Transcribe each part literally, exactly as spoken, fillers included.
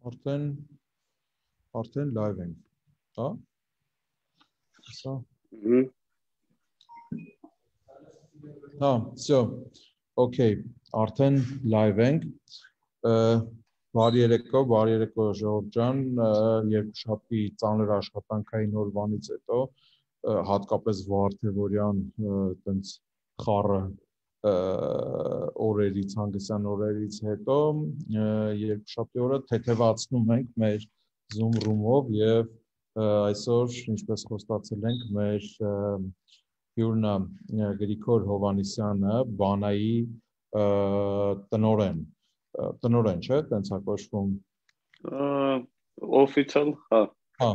Արդեն արդեն live ենք, հա? Սա։ Հա, всё։ Okay, արդեն live ենք։ Բարի երեկո, բարի երեկո Ժողով ջան, երկուշաբթի ծանր աշխատանքային օրվանից հետո, հատկապես Վարդևորյան տենց խառը օրերից, հանգստյան օրերից հետո երկուշաբթի օրը թեթևացնում ենք մեր Zoom room-ով եւ այսօր, ինչպես խոստացել ենք, մեր հյուրն Գրիգոր Հովհաննիսյանը, Բանայի տնօրեն, տնօրեն չէ, տենց է կոչվում։ Official, հա։ Հա։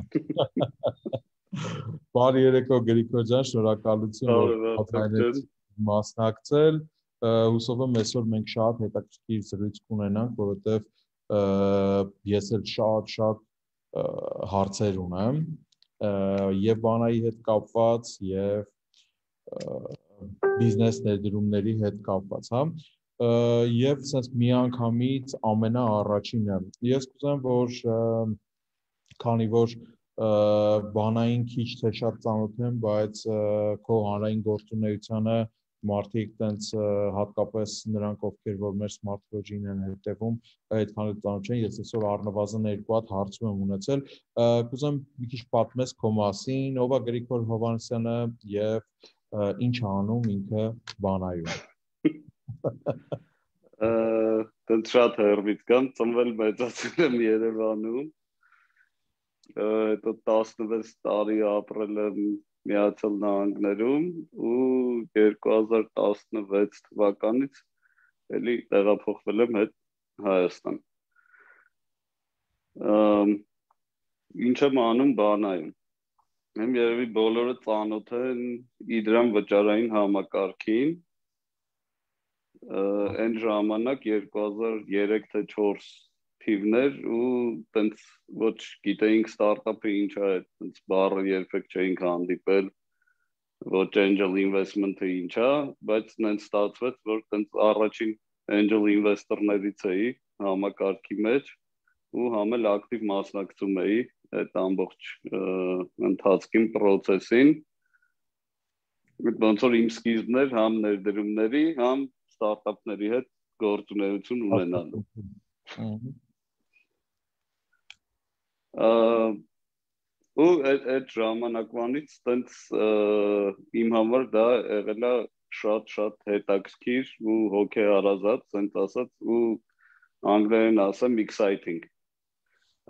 Բարի երեկո Գրիգոր ջան, շնորհակալություն, որ մասնակցել, հուսով եմ այսօր մենք շատ հետաքրքիր զրույց կունենանք, որովհետև ես էլ շատ-շատ հարցեր ունեմ եւ Բանայի հետ կապված եւ բիզնես ներդրումների հետ կապված, հա, եւ sense միանգամից ամենաառաջինը ես կուզեմ, որ քանի որ Բանային քիչ թե շատ ծանոթ եմ, բայց քո հանրային գործունեությանը մարդիկ տենց հատկապես նրանք, ովքեր որ մեր Smart Lodge-ին են հետևում, այդքան էլ ծանոթ չեն, ես այսօր առնվազն երկու հատ հարցում եմ ունեցել, կուզեմ մի քիչ պատմես քո մասին, ով է Գրիգոր Հովհաննիսյանը եւ ինչ է անում ինքը Բանայում։ Տենց շատ հեռվից կամ ծնվել մեծացել եմ Երևանում, հետո տասնվեց տարի ապրել եմ Միացյալ Նահանգներում ու երկու հազար տասնվեց թվականից էլի տեղափոխվել եմ հետ Հայաստան։ Ինչ եմ անում Բանայում։ Եմ երևի բոլորը ծանոթ են Իդրամ վճարային համակարգին։ Այն ժամանակ երկու հազար երեք թե չորս թիվներ ու տենց ոչ գիտեինք ստարտափը ինչ է, տենց բառը երբեք չէինք հանդիպել, ոչ angel investment-ը ինչ է, բայց նենց ստացվեց, որ տենց առաջին angel investor-ներից էի համակարգի մեջ ու համ էլ ակտիվ մասնակցում էի այդ ամբողջ ընթացքին, process-ին։ Ոնց որ իմ սկիզբն էր համ ներդրումների, համ ստարտափների հետ գործունեություն ունենալու։ Ու այդ ժամանակվանից տենց իմ համար դա եղել է շատ-շատ հետաքրքիր ու հոգեհարազատ, տենց ասած, ու անգլերեն ասեմ exciting։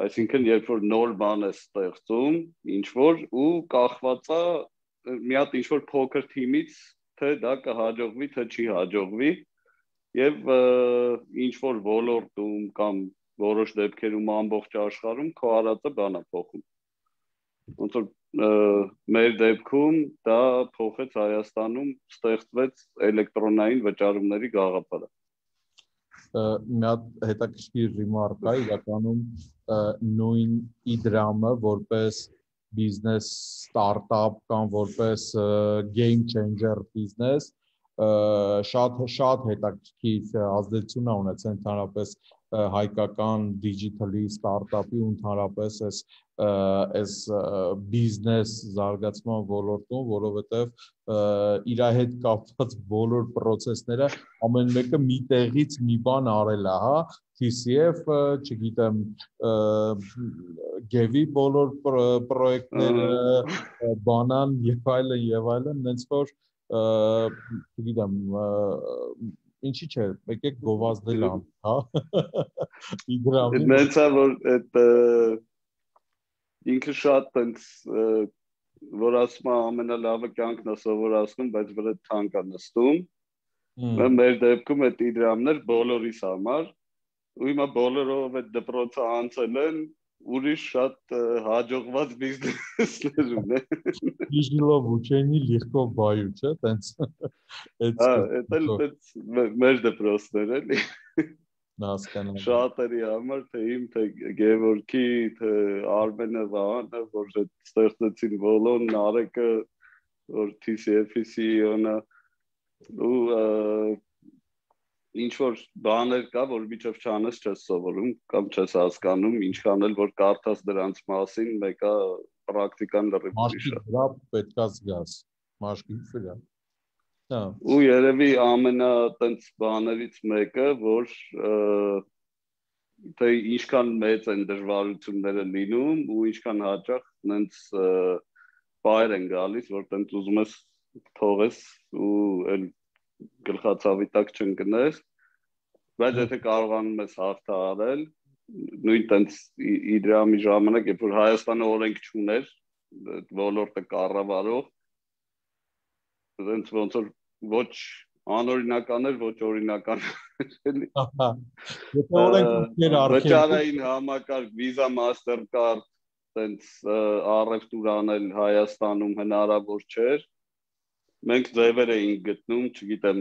Այսինքն երբ որ նոր բան է ստեղծում, ինչ որ ու կախված է մի հատ ինչ որ փոքր թիմից, թե դա կհաջողվի, թե չի հաջողվի, եւ ինչ որ ոլորտում կամ որոշ դեպքերում ամբողջ աշխարհում քո արածը բան է փոխում։ Ոնց որ մեր դեպքում դա փոխեց Հայաստանում, ստեղծվեց էլեկտրոնային վճարումների գաղափարը։ Մի հատ հետաքրքիր ռիմարկ կա, իրականում նույն Իդրամը որպես բիզնես ստարտափ կամ որպես game changer բիզնես շատ շատ հետաքրքիր ազդեցություն է ունեցել ընդհանրապես հայկական դիջիտալի ստարտափի ու ընդհանրապես այս այս բիզնես զարգացման ոլորտում, որովհետև իր հետ կապված բոլոր process-ները ամեն մեկը մի տեղից մի բան արել է, հա, T C F, չգիտեմ, Գևի բոլոր պրոյեկտները, Բանան եւ այլն եւ այլն, նենց որ չգիտեմ, ինչի՞ չէ, եկեք գովազդել ան, հա։ Իդրամի։ Նենց է որ այդ ինքը շատ տենց որ ասում է ամենալավը կյանքն է սովորացնում, բայց վրա թանկ է նստում։ Մեր դեպքում այդ Իդրամներ բոլորիս համար ու հիմա բոլորով այդ դպրոցը անցել են ուրիշ շատ հաջողված բիզնեսներ ունեն։ Իժլով ուչենի լիղկով բայու, չէ, տենց։ Հա, այդ էլ տենց մեր դպրոցներ էլի։ Հասկանալի։ Շատերի համար, թե իմ, թե Գևորգի, թե Արմենը, Վահանը, որ ստեղծեցին Վոլոն, Նարեկը, որ T C F-ի C E O-ն է ու ինչ որ բաներ կա, որ միջով չանես չես սովորում կամ չես հասկանում, ինչքան էլ որ կարդաս դրանց մասին, մեկը պրակտիկան լրիվ ուրիշ է։ Մաշկի վրա պետքա զգաս, մաշկի վրա։ Հա։ Ու երևի ամենա տենց բաներից մեկը, որ թե ինչքան մեծ են դժվարությունները լինում ու ինչքան հաճախ նենց բայր են գալիս, որ տենց ուզում ես թողես ու էլ գլխացավի տակ չընկնես, բայց եթե կարողանում ես հաղթահարել, նույն տենց Իդրամի ժամանակ, երբ որ Հայաստանը օրենք չուներ, ոլորտը կառավարող, տենց ոնց որ ոչ անօրինական էր, ոչ օրինական էր։ Եթե օրենք էր արկել, վճարային համակարգ, Visa, Mastercard, տենց առևտուր անել Հայաստանում հնարավոր չէր։ Մենք ձևեր էինք գտնում, չգիտեմ,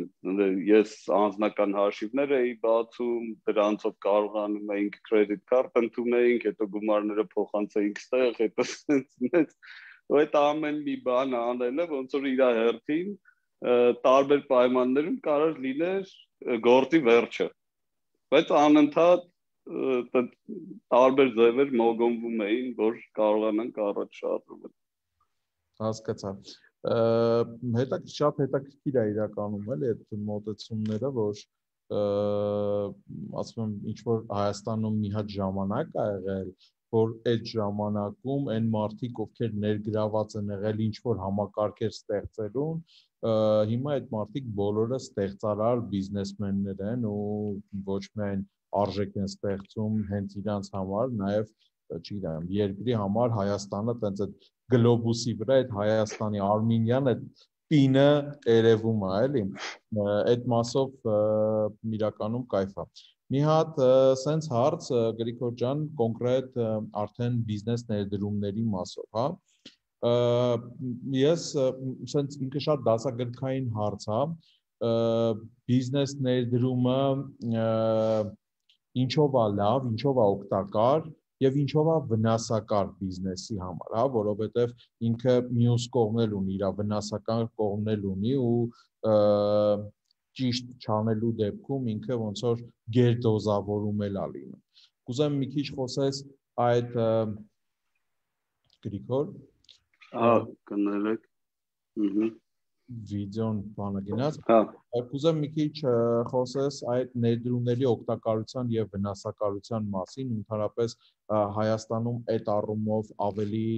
ես անձնական հաշիվներ էի բացում, դրանցով կարողանում էինք credit card ընդունեինք, հետո գումարները փոխանցեինք ստեղ, հետո սենց, ու այդ ամեն մի բան անելը, ոնց որ իր հերթին տարբեր պայմաններում կարող լիներ գործի վերջը, բայց անընդհատ տարբեր ձևեր մոգոնվում էին, որ կարողանանք առաջ շարժվել։ Հասկացա։ Հետա շատ հետաքրքիր է իրականում էլի այդ մոտեցումները, որ ասում եմ ինչ որ Հայաստանում մի հատ ժամանակ ա եղել, որ այդ ժամանակում այն մարդիկ, ովքեր ներգրաված են եղել ինչ որ համակարգեր ստեղծելուն, հիմա այդ մարդիկ բոլորը ստեղծարար բիզնեսմեններ են ու ոչ միայն արժեք են ստեղծում հենց իրանց համար, նաև չգիտեմ, երկրի համար Հայաստանը տենց այդ գլոբուսի վրա այդ Հայաստանի Արմենիան այդ պինը երևում է, էլի։ Այդ մասով իրականում կայֆ է։ Մի հատ սենց հարց Գրիգոր ջան, կոնկրետ արդեն բիզնես ներդրումների մասով, հա։ Ես սենց ինքը շատ դասագրքային հարց է, բիզնես ներդրումը ինչով է լավ, ինչով է օգտակար եւ ինչով է վնասակար բիզնեսի համար, հա, որովհետեւ ինքը մյուս կողմն ունի, իր վնասական կողմն ունի ու ճիշտ չանելու դեպքում ինքը ոնց որ գերդոզավորում էլ է լինում։ Կուզեմ մի քիչ խոսես այդ Գրիգոր, հա, կներեք։ Ահա վիդեոն բանը գնաց։ Հա։ Կուզեմ մի քիչ խոսես այդ ներդրումների օգտակարության եւ վնասակարության մասին, ընդհանրապես Հայաստանում այդ առումով ավելի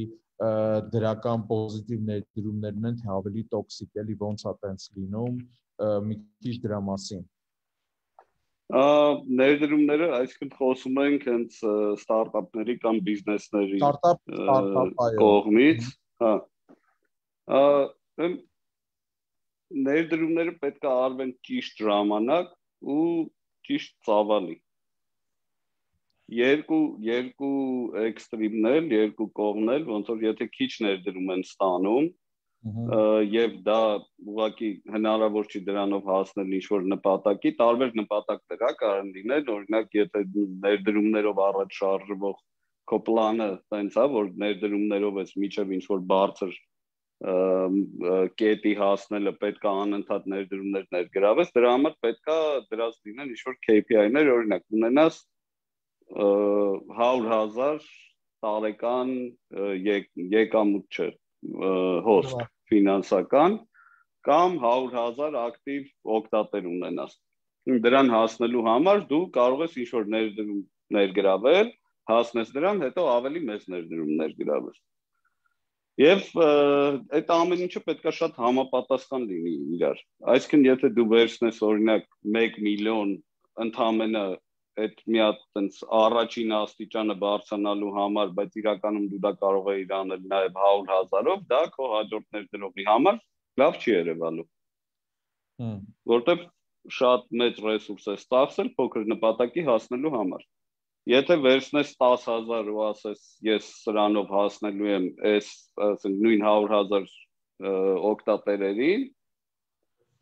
դրական պոզիտիվ ներդրումներն են, թե ավելի տոքսիկ, էլի ոնց է տենց լինում, մի քիչ դրա մասին։ Ներդրումները, այսինքն խոսում ենք հենց ստարտափների կամ բիզնեսների Ստարտափ, ստարտափ, այո։ Կողմից, հա։ Ներդրումները պետք է արվեն ճիշտ ժամանակ ու ճիշտ ծավալի։ Երկու երկու էքստրիմներ, երկու կողմներ, ոնց որ եթե քիչ ներդրում են ստանում, եւ դա ուղղակի հնարավոր չի դրանով հասնել ինչ-որ նպատակի, տարբեր նպատակներ հա կարող լինեն, օրինակ եթե ներդրումներով առաջ շարժվող քո պլանը տենց է, որ ներդրումներով ես միջև ինչ-որ բարձր կետի հասնելը պետք է անընդհատ ներդրումներ ներգրավես, դրա համար պետք է դրած լինեն ինչ-որ K P I-ներ, օրինակ ունենաս հարյուր հազար տարեկան եկամուտ չէ, հոսք ֆինանսական կամ հարյուր հազար ակտիվ օգտատեր ունենաս։ Դրան հասնելու համար դու կարող ես ինչ-որ ներդրում ներգրավել, հասնես դրան, հետո ավելի մեծ ներդրում ներգրավես։ Եվ այդ ամեն ինչը պետք է շատ համապատասխան լինի իրար։ Այսինքն եթե դու վերցնես օրինակ մեկ միլիոն ընդամենը այդ մի հատ տենց առաջին աստիճանը բարձրանալու համար, բայց իրականում դու դա կարող ես անել նաև հարյուր հազարով, դա քո հաջորդ ներդրողի համար լավ չի երևալու։ Որտեվ շատ մեծ ռեսուրս է ստացել փոքր նպատակի հասնելու համար։ Եթե վերցնես տասը հազար ու ասես ես սրանով հասնելու եմ այս ասենք նույն հարյուր հազար օգտատերերին,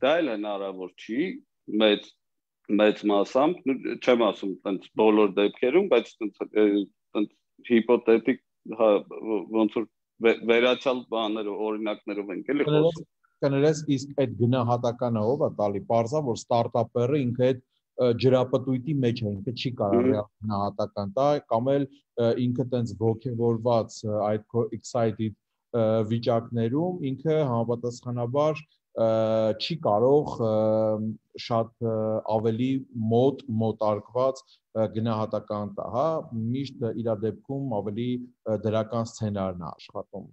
դա էլ հնարավոր չի մեծ մեծ մասամբ, չեմ ասում տենց բոլոր դեպքերում, բայց տենց հիպոթետիկ ոնց որ վերացյալ բաներով օրինակներով ենք էլի խոսում։ Կներես իսկ այդ գնահատականը ով է տալի, պարզա որ ստարտափերը ինքը այդ ջրապտույտի մեջ է, ինքը չի կարող ռեալ գնահատական տա, կամ էլ ինքը տենց ոգևորված այդ excited վիճակներում ինքը համապատասխանաբար չի կարող շատ ավելի մոտ մոտարկված գնահատական տա, հա, միշտ իր դեպքում ավելի դրական սցենարն է աշխատում։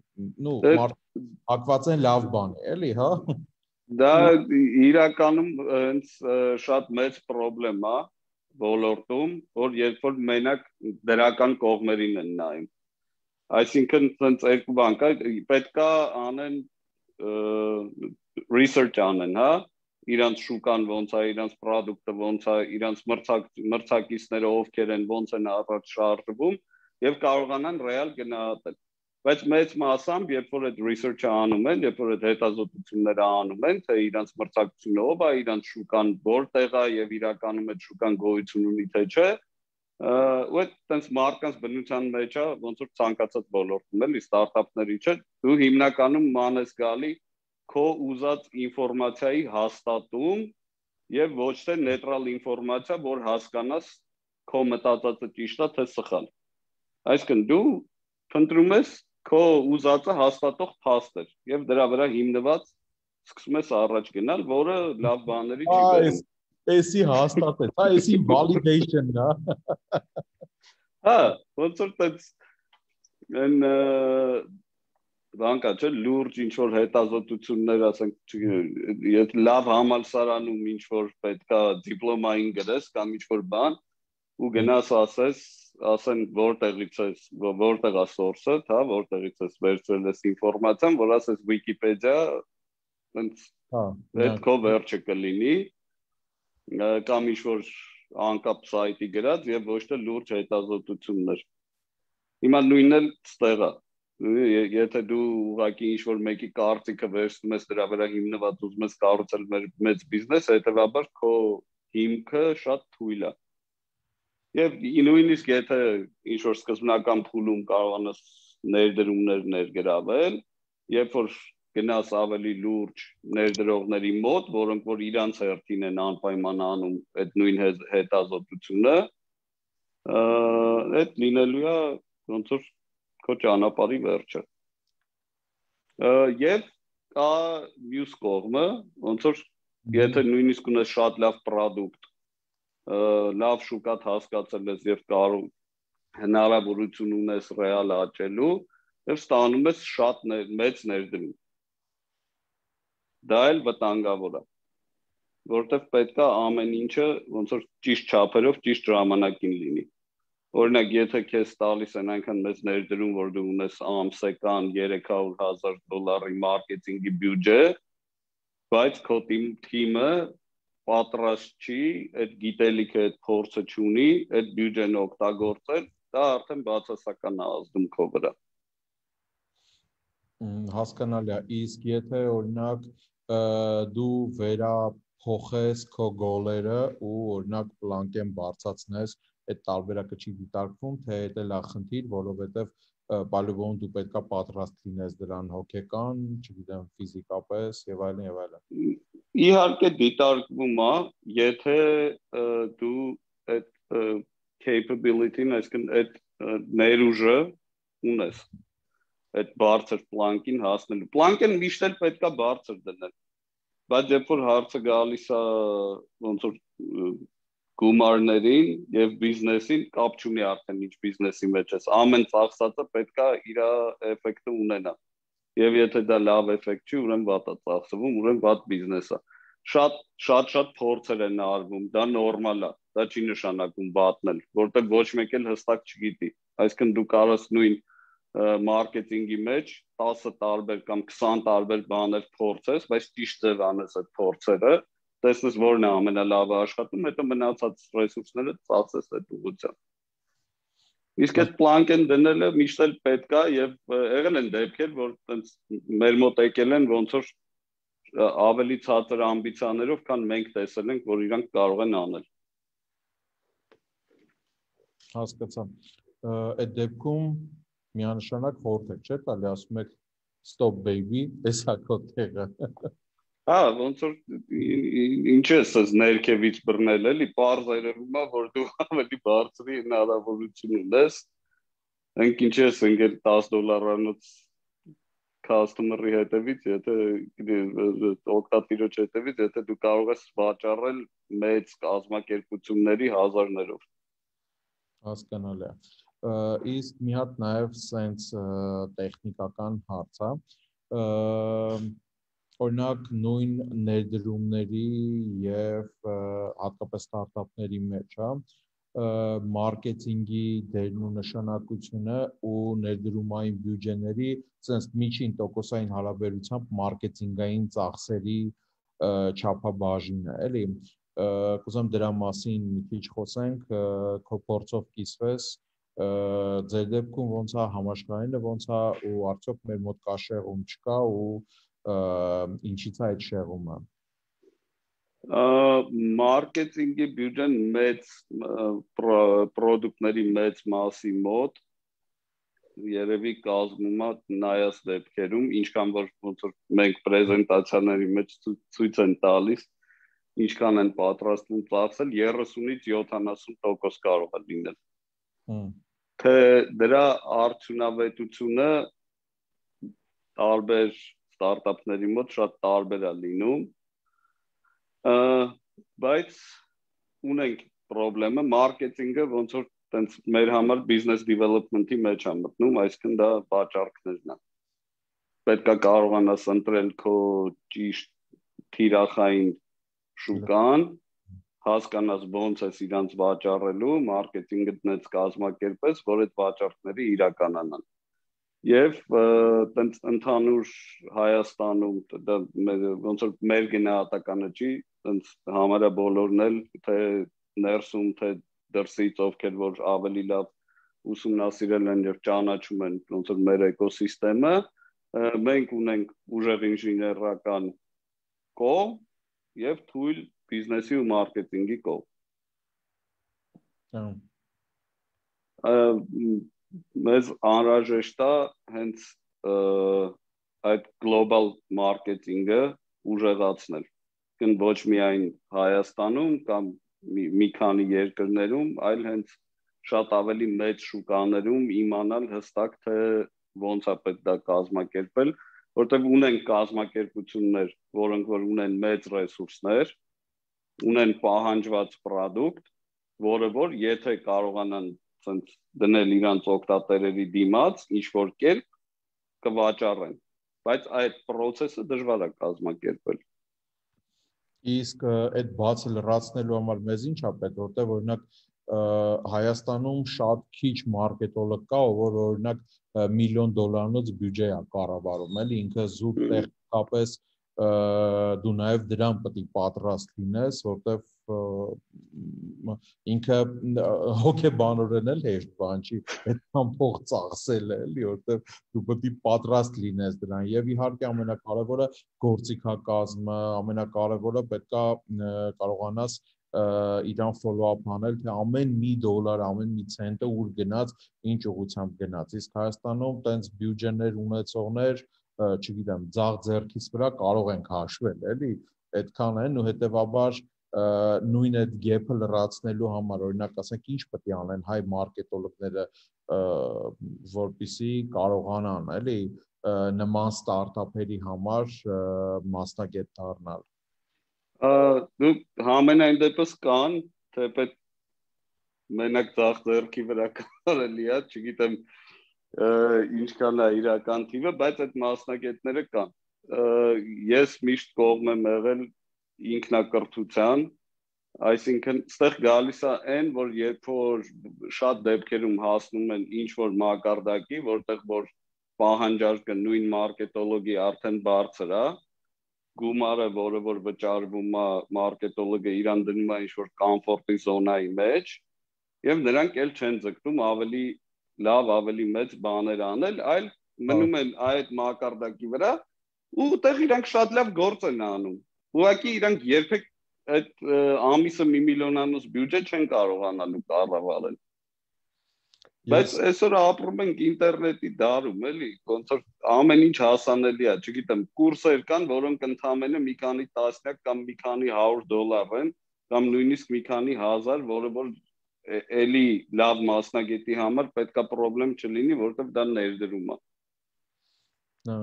Նու հակված են լավ բան է, էլի, հա։ Դա իրականում հենց շատ մեծ խնդրեմ է ոլորտում, որ երբ որ մենակ դրական կողմերին են նայում։ Այսինքն ցենց երկու բան կա, պետք է անեն research անեն, հա, իրանց շուկան ոնց է, իրանց product-ը ոնց է, իրանց մրցակիցները ովքեր են, ոնց են առաջ շարժվում եւ կարողանան ռեալ գնահատել։ Բայց մեծ մասամբ, երբ որ այդ research-ը անում են, երբ որ այդ հետազոտությունները անում են, թե իրանց մրցակցությունը ով է, իրանց շուկան որտեղ է եւ իրականում այդ շուկան գոյություն ունի թե չէ, ու այդ տենց մարկանց բնության մեջ է, ոնց որ ցանկացած ոլորտում էլի ստարտափների չէ, դու հիմնականում ման ես գալի քո ուզած ինֆորմացիայի հաստատում եւ ոչ թե նեյտրալ ինֆորմացիա, որ հասկանաս քո մտածածը ճիշտ է թե սխալ։ Այսինքն դու փնտրում ես քո ուզածը հաստատող փաստեր եւ դրա վրա հիմնված սկսում ես առաջ գնալ, որը լավ բաների չի բերում։ Էսի հաստատեց, հա, էսի validation-ն է։ Հա, ոնց որ տենց են բանկա չէ, լուրջ ինչ որ հետազոտություններ, ասենք, եթե լավ համալսարանում ինչ որ պետքա դիպլոմային գրես կամ ինչ որ բան ու գնաս ասես, ասեն որտեղից ես, որտեղ է source-ը, հա, որտեղից ես վերցրել ես ինֆորմացիան, որ ասես Wikipedia, տենց այդ քո վերջը կլինի, կամ ինչ որ անկապ սայթի գրած եւ ոչ թե լուրջ հետազոտություններ։ Հիմա նույնն էլ ստեղ է։ Եթե դու ուղղակի ինչ որ մեկի կարծիքը վերցնում ես դրա վրա հիմնված ուզում ես կառուցել մեծ բիզնես, հետեւաբար քո հիմքը շատ թույլ է։ Եվ նույնիսկ եթե ինչ որ սկզբնական փուլում կարողանաս ներդրումներ ներգրավել, երբ որ գնաս ավելի լուրջ ներդրողների մոտ, որոնք որ իրանց հերթին են անպայման անում այդ նույն հետազոտությունը, այդ լինելու է ոնց որ քո ճանապարհի վերջը։ Եվ կա մյուս կողմը, ոնց որ եթե նույնիսկ ունես շատ լավ product, լավ շուկա հասկացել ես եւ կարող հնարավորություն ունես ռեալ աճելու եւ ստանում ես շատ մեծ ներդրում։ Դա էլ վտանգավոր է, որովհետեւ պետք է ամեն ինչը ոնց որ ճիշտ չափերով, ճիշտ ժամանակին լինի։ Օրինակ, եթե քեզ տալիս են այնքան մեծ ներդրում, որ դու ունես ամսական երեք հարյուր հազար դոլարի մարքեթինգի բյուջե, բայց քո թիմը պատրաստ չի, այդ գիտելիքը, այդ փորձը չունի, այդ բյուջեն օգտագործել, դա արդեն բացասական է ազդում քո վրա։ Հասկանալի է, իսկ եթե օրինակ դու վերափոխես քո գոլերը ու օրինակ պլանկեն բարձրացնես, այդ տարբերակը չի դիտարկվում, թե դա լավ խնդիր, որովհետև բալուբոն դու պետքա պատրաստ լինես դրան հոգեկան, չգիտեմ, ֆիզիկապես եւ այլն եւ այլն։ Իհարկե դիտարկվում է, եթե դու այդ capability-ն, այսինքն այդ ներուժը ունես, այդ բարձր պլանկին հասնելու։ Պլանկեն միշտ էլ պետքա բարձր դնել, բայց երբ որ հարցը գալիս է ոնց որ գումարներին եւ բիզնեսին, կապ չունի արդեն ինչ բիզնեսի մեջ ես, ամեն ծախսածը պետքա իր էֆեկտը ունենա։ Եվ եթե դա լավ էֆեկտ չի, ուրեմն վատ է ծախսվում, ուրեմն վատ բիզնես է։ Շատ շատ շատ փորձեր են արվում, դա նորմալ է, դա չի նշանակում վատն էլ, որտեղ ոչ մեկ էլ հստակ չգիտի։ Այսինքն դու կարող ես նույն մարքեթինգի մեջ տասը տարբեր կամ քսան տարբեր բաներ փորձես, բայց ճիշտ ձև անես այդ փորձերը, տեսնես որն է ամենալավը աշխատում, հետո մնացած ռեսուրսները ծախսես այդ ուղղությամբ։ Իսկ այդ պլանկեն դնելը միշտ էլ պետք է եւ եղել են դեպքեր, որ տենց մեր մոտ եկել են ոնց որ ավելի ցածր ամբիցիաներով, քան մենք տեսել ենք, որ իրանք կարող են անել։ Հասկացա։ Այդ դեպքում միանշանակ խորհուրդ եք, չէ՞ տալի, ասում եք stop baby, էսա քո տեղը։ Հա, ոնց որ ինչ է ասես ներքևից բռնել էլի, պարզ երևում է, որ դու ավելի բարձրի հնարավորություն ունես։ Ընկ ինչ ես ընկել տասը դոլարանոց customer-ի հետևից, եթե օգտատիրոջ հետևից, եթե դու կարող ես վաճառել մեծ կազմակերպությունների հազարներով։ Հասկանալի է։ Իսկ մի հատ նաև սենց տեխնիկական հարց է։ Օրինակ նույն ներդրումների եւ հատկապես ստարտափների մեջ, հա, մարքեթինգի դերն ու նշանակությունը ու ներդրումային բյուջեների սենց միջին տոկոսային հարաբերությամբ մարքեթինգային ծախսերի չափաբաժինը, էլի։ Կուզեմ դրա մասին մի քիչ խոսենք, քո փորձով կիսվես, ձեր դեպքում ոնց է, համաշխարհայինը ոնց է ու արդյոք մեր մոտ կա շեղում, չկա ու ինչից է այդ շեղումը։ Մարքեթինգի բյուջեն մեծ պրոդուկտների մեծ մասի մոտ երևի կազմում է նայած դեպքերում, ինչքան որ ոնց որ մենք պրեզենտացիաների մեջ ցույց են տալիս, ինչքան են պատրաստվում ծախսել, երեսունից յոթանասուն տոկոս կարող է լինել։ Թե դրա արդյունավետությունը տարբեր ստարտափների մոտ շատ տարբեր է լինում, բայց ունենք պրոբլեմը, մարքեթինգը ոնց որ տենց մեր համար business development-ի մեջ է մտնում, այսինքն դա վաճառքներն է։ Պետք է կարողանաս ընտրել քո ճիշտ թիրախային շուկան, հասկանաս ոնց ես իրանց վաճառելու, մարքեթինգը դնես կազմակերպես, որ այդ վաճառքները իրականանան։ Եվ տենց ընդհանուր Հայաստանում դա ոնց որ մեր գնահատականը չի, տենց համարյա բոլորն էլ թե ներսում, թե դրսից ովքեր որ ավելի լավ ուսումնասիրել են եւ ճանաչում են ոնց որ մեր էկոսիստեմը, մենք ունենք ուժեղ ինժեներական կողմ եւ թույլ բիզնեսի ու մարքեթինգի կողմ։ Մեզ անհրաժեշտ է հենց այդ գլոբալ մարքեթինգը ուժեղացնել։ Կն ոչ միայն Հայաստանում կամ մի քանի երկրներում, այլ հենց շատ ավելի մեծ շուկաներում իմանալ հստակ թե ոնց է պետք դա կազմակերպել, որտեղ ունեն կազմակերպություններ, որոնք որ ունեն մեծ ռեսուրսներ, ունեն պահանջված պրոդուկտ, որը որ եթե կարողանան ցենց դնել իրանց օգտատերերի դիմաց, ինչ որ կերպ կվաճառեն, բայց այդ process-ը դժվար է կազմակերպել։ Իսկ այդ բացը լրացնելու համար մեզ ինչ է պետք, որտեղ օրինակ Հայաստանում շատ քիչ մարքետոլոգ կա, որ օրինակ միլիոն դոլարանոց բյուջե է կառավարում, էլի ինքը զուտ տեխնիկապես դու նաև դրան պետք է պատրաստ լինես, որտեղ ինքը հոգեբանորեն էլ հեշտ բան չի, այդքան փող ծախսել էլի, որտեղ դու պետք է պատրաստ լինես դրան եւ իհարկե ամենակարևորը գործիքակազմը, ամենակարևորը պետք է կարողանաս իրան follow-up անել, թե ամեն մի դոլար, ամեն մի ցենտը ուր գնաց, ինչ ուղղությամբ գնաց։ Իսկ Հայաստանում տենց բյուջեներ ունեցողներ, չգիտեմ, ձախ ձեռքից վրա կարող ենք հաշվել, էլի, այդքան են ու հետեւաբար նույն այդ gap-ը լրացնելու համար, օրինակ, ասենք, ինչ պետք է անեն հայ մարքետոլոգները, որպեսզի կարողանան, էլի, նման ստարտափերի համար մասնագետ դառնալ։ Դու համենայն դեպս կան, թեպետ մենակ ձախ ձեռքի վրա կարելի է, չգիտեմ ինչքան է իրական թիվը, բայց այդ մասնագետները կան։ Ես միշտ կողմ եմ եղել ինքնակրթության, այսինքն ստեղ գալիս է այն, որ երբ որ շատ դեպքերում հասնում են ինչ որ մակարդակի, որտեղ որ պահանջարկը նույն մարքետոլոգի արդեն բարձր է, գումարը, որը որ վճարվում է մարքետոլոգը իրան դնում է ինչ-որ կոմֆորտի զոնայի մեջ եւ նրանք էլ չեն ձգտում ավելի լավ, ավելի մեծ բաներ անել, այլ մնում են այդ մակարդակի վրա ու այդտեղ իրանք շատ լավ գործ են անում։ Ուղղակի իրանք երբեք այդ ամիսը մի միլիոնանոց բյուջե չեն կարողանալու կառավարել։ Բայց այսօր ապրում ենք ինտերնետի դարում, էլի, ոնց որ ամեն ինչ հասանելի է, չգիտեմ, կուրսեր կան, որոնք ընդամենը մի քանի տասնյակ կամ մի քանի հարյուր դոլար են, կամ նույնիսկ մի քանի հազար, որը որ էլի լավ մասնագետի համար պետքա պրոբլեմ չլինի, որովհետև դա ներդրում է։ Հա։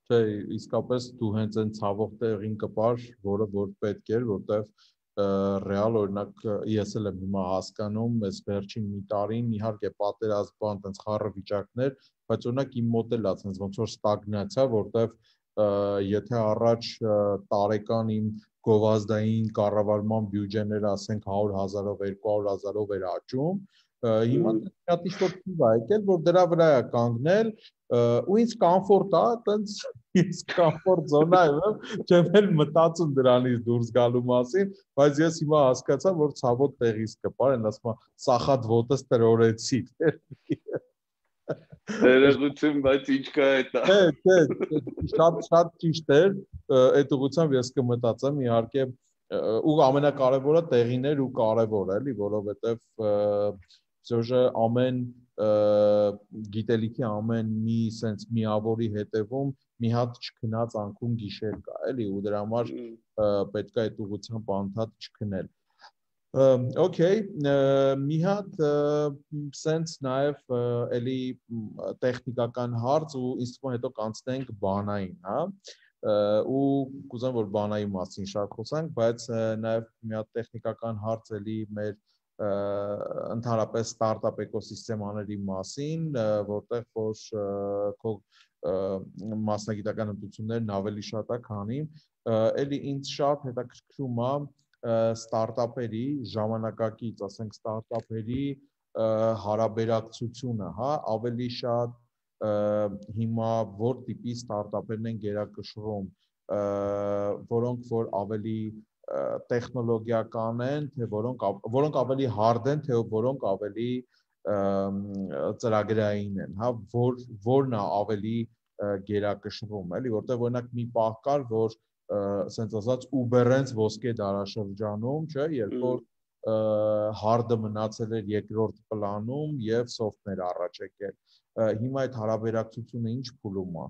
Չէ, իսկապես դու հենց այն ցավող տեղին կպար, որը որ պետք էր, որտեվ ռեալ օրինակ ես էլ եմ հիմա հասկանում, այս վերջին մի տարին իհարկե պատերազմ բան տենց խառը վիճակներ, բայց օրինակ իմ մոտ էլ է տենց ոնց որ ստագնացիա, որտեվ եթե առաջ տարեկան իմ գովազդային կառավարման բյուջեները ասենք հարյուր հազարով, երկու հարյուր հազարով էր աճում, հիմա շատ ինչ-որ թիվ է եկել, որ դրա վրա է կանգնել, ու ինձ կոմֆորտ է, տենց ինձ կոմֆորտ զոնա եմ, չեմ էլ մտածում դրանից դուրս գալու մասին, բայց ես հիմա հասկացա, որ ցավոտ տեղից կպար, են ասում սախատ ոտս տրորեցի։ Ներողություն, բայց ինչ կա էտա։ Չէ, չէ, շատ շատ ճիշտ էր, այդ ուղղությամբ ես կմտածեմ, իհարկե, ու ամենակարևորը տեղին էր ու կարևոր էլի, որովհետև Սոժը ամեն գիտելիքի ամեն մի սենց միավորի հետևում մի հատ չքնած անկում գիշեր կա, էլի, ու դրա համար պետք է այդ ուղղությամբ անդադ չքնել։ Okay, մի հատ սենց նաև էլի տեխնիկական հարց ու ինձ թվում է հետո կանցնենք բանային, հա, ու կուզեմ որ բանայի մասին շատ խոսանք, բայց նաև մի հատ տեխնիկական հարց էլի մեր ընդհանրապես ստարտափ էկոսիստեմաների մասին, որտեղ որ քո մասնագիտական հմտություններն ավելի շատ է, քանի էլի ինձ շատ հետաքրքրում է ստարտափերի ժամանակակից, ասենք ստարտափերի հարաբերակցությունը, հա, ավելի շատ հիմա որ տիպի ստարտափերն են գերակշռում, որոնք որ ավելի տեխնոլոգիական են, թե որոնք որոնք ավելի hard են, թե որոնք ավելի ծրագրային են, հա, որ որն է ավելի գերակշռում, էլի, որտեղ օրինակ մի պահ կար, որ ասենց ասած Uber-ից ոսկե դարաշրջանում, չէ, երբ որ hard-ը մնացել էր երկրորդ պլանում եւ soft-ն էր առաջ եկել։ Հիմա այդ հարաբերակցությունը ինչ փուլում է։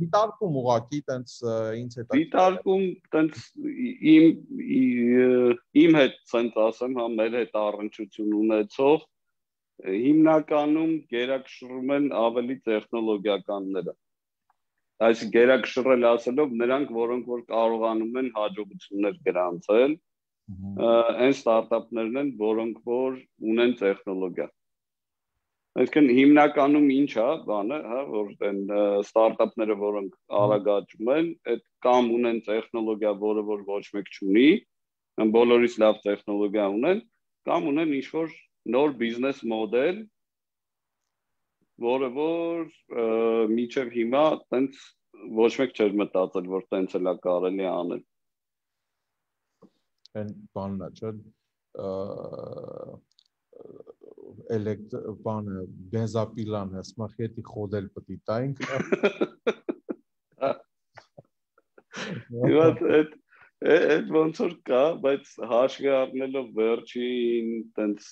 Դիտարկում ուղակի տենց ինձ հետ դիտարկում տենց իմ իմ հետ ցենց ասեմ, հա, մեր հետ առնչություն ունեցող հիմնականում գերակշռում են ավելի տեխնոլոգիականները։ Այսինքն գերակշռել ասելով նրանք, որոնք որ կարողանում են հաջողություններ գրանցել, այն ստարտափներն են, որոնք որ ունեն տեխնոլոգիա։ Այսինքն հիմնականում ինչ է, բանը, հա, որ այն ստարտափները, որոնք արագ աճում են, այդ կամ ունեն տեխնոլոգիա, որը որ ոչ մեկ չունի, բոլորից լավ տեխնոլոգիա ունեն, կամ ունեն ինչ-որ նոր բիզնես մոդել, որը որ մինչև հիմա տենց ոչ մեկ չէր մտածել, որ տենց էլ է կարելի անել։ Այն բանն է, չէ՞, էլեկտ բանը բենզապիլան է, սմախետի խոդել պտի տայինք։ Իվատ այդ այդ ոնց որ կա, բայց հաշվի առնելով վերջին տենց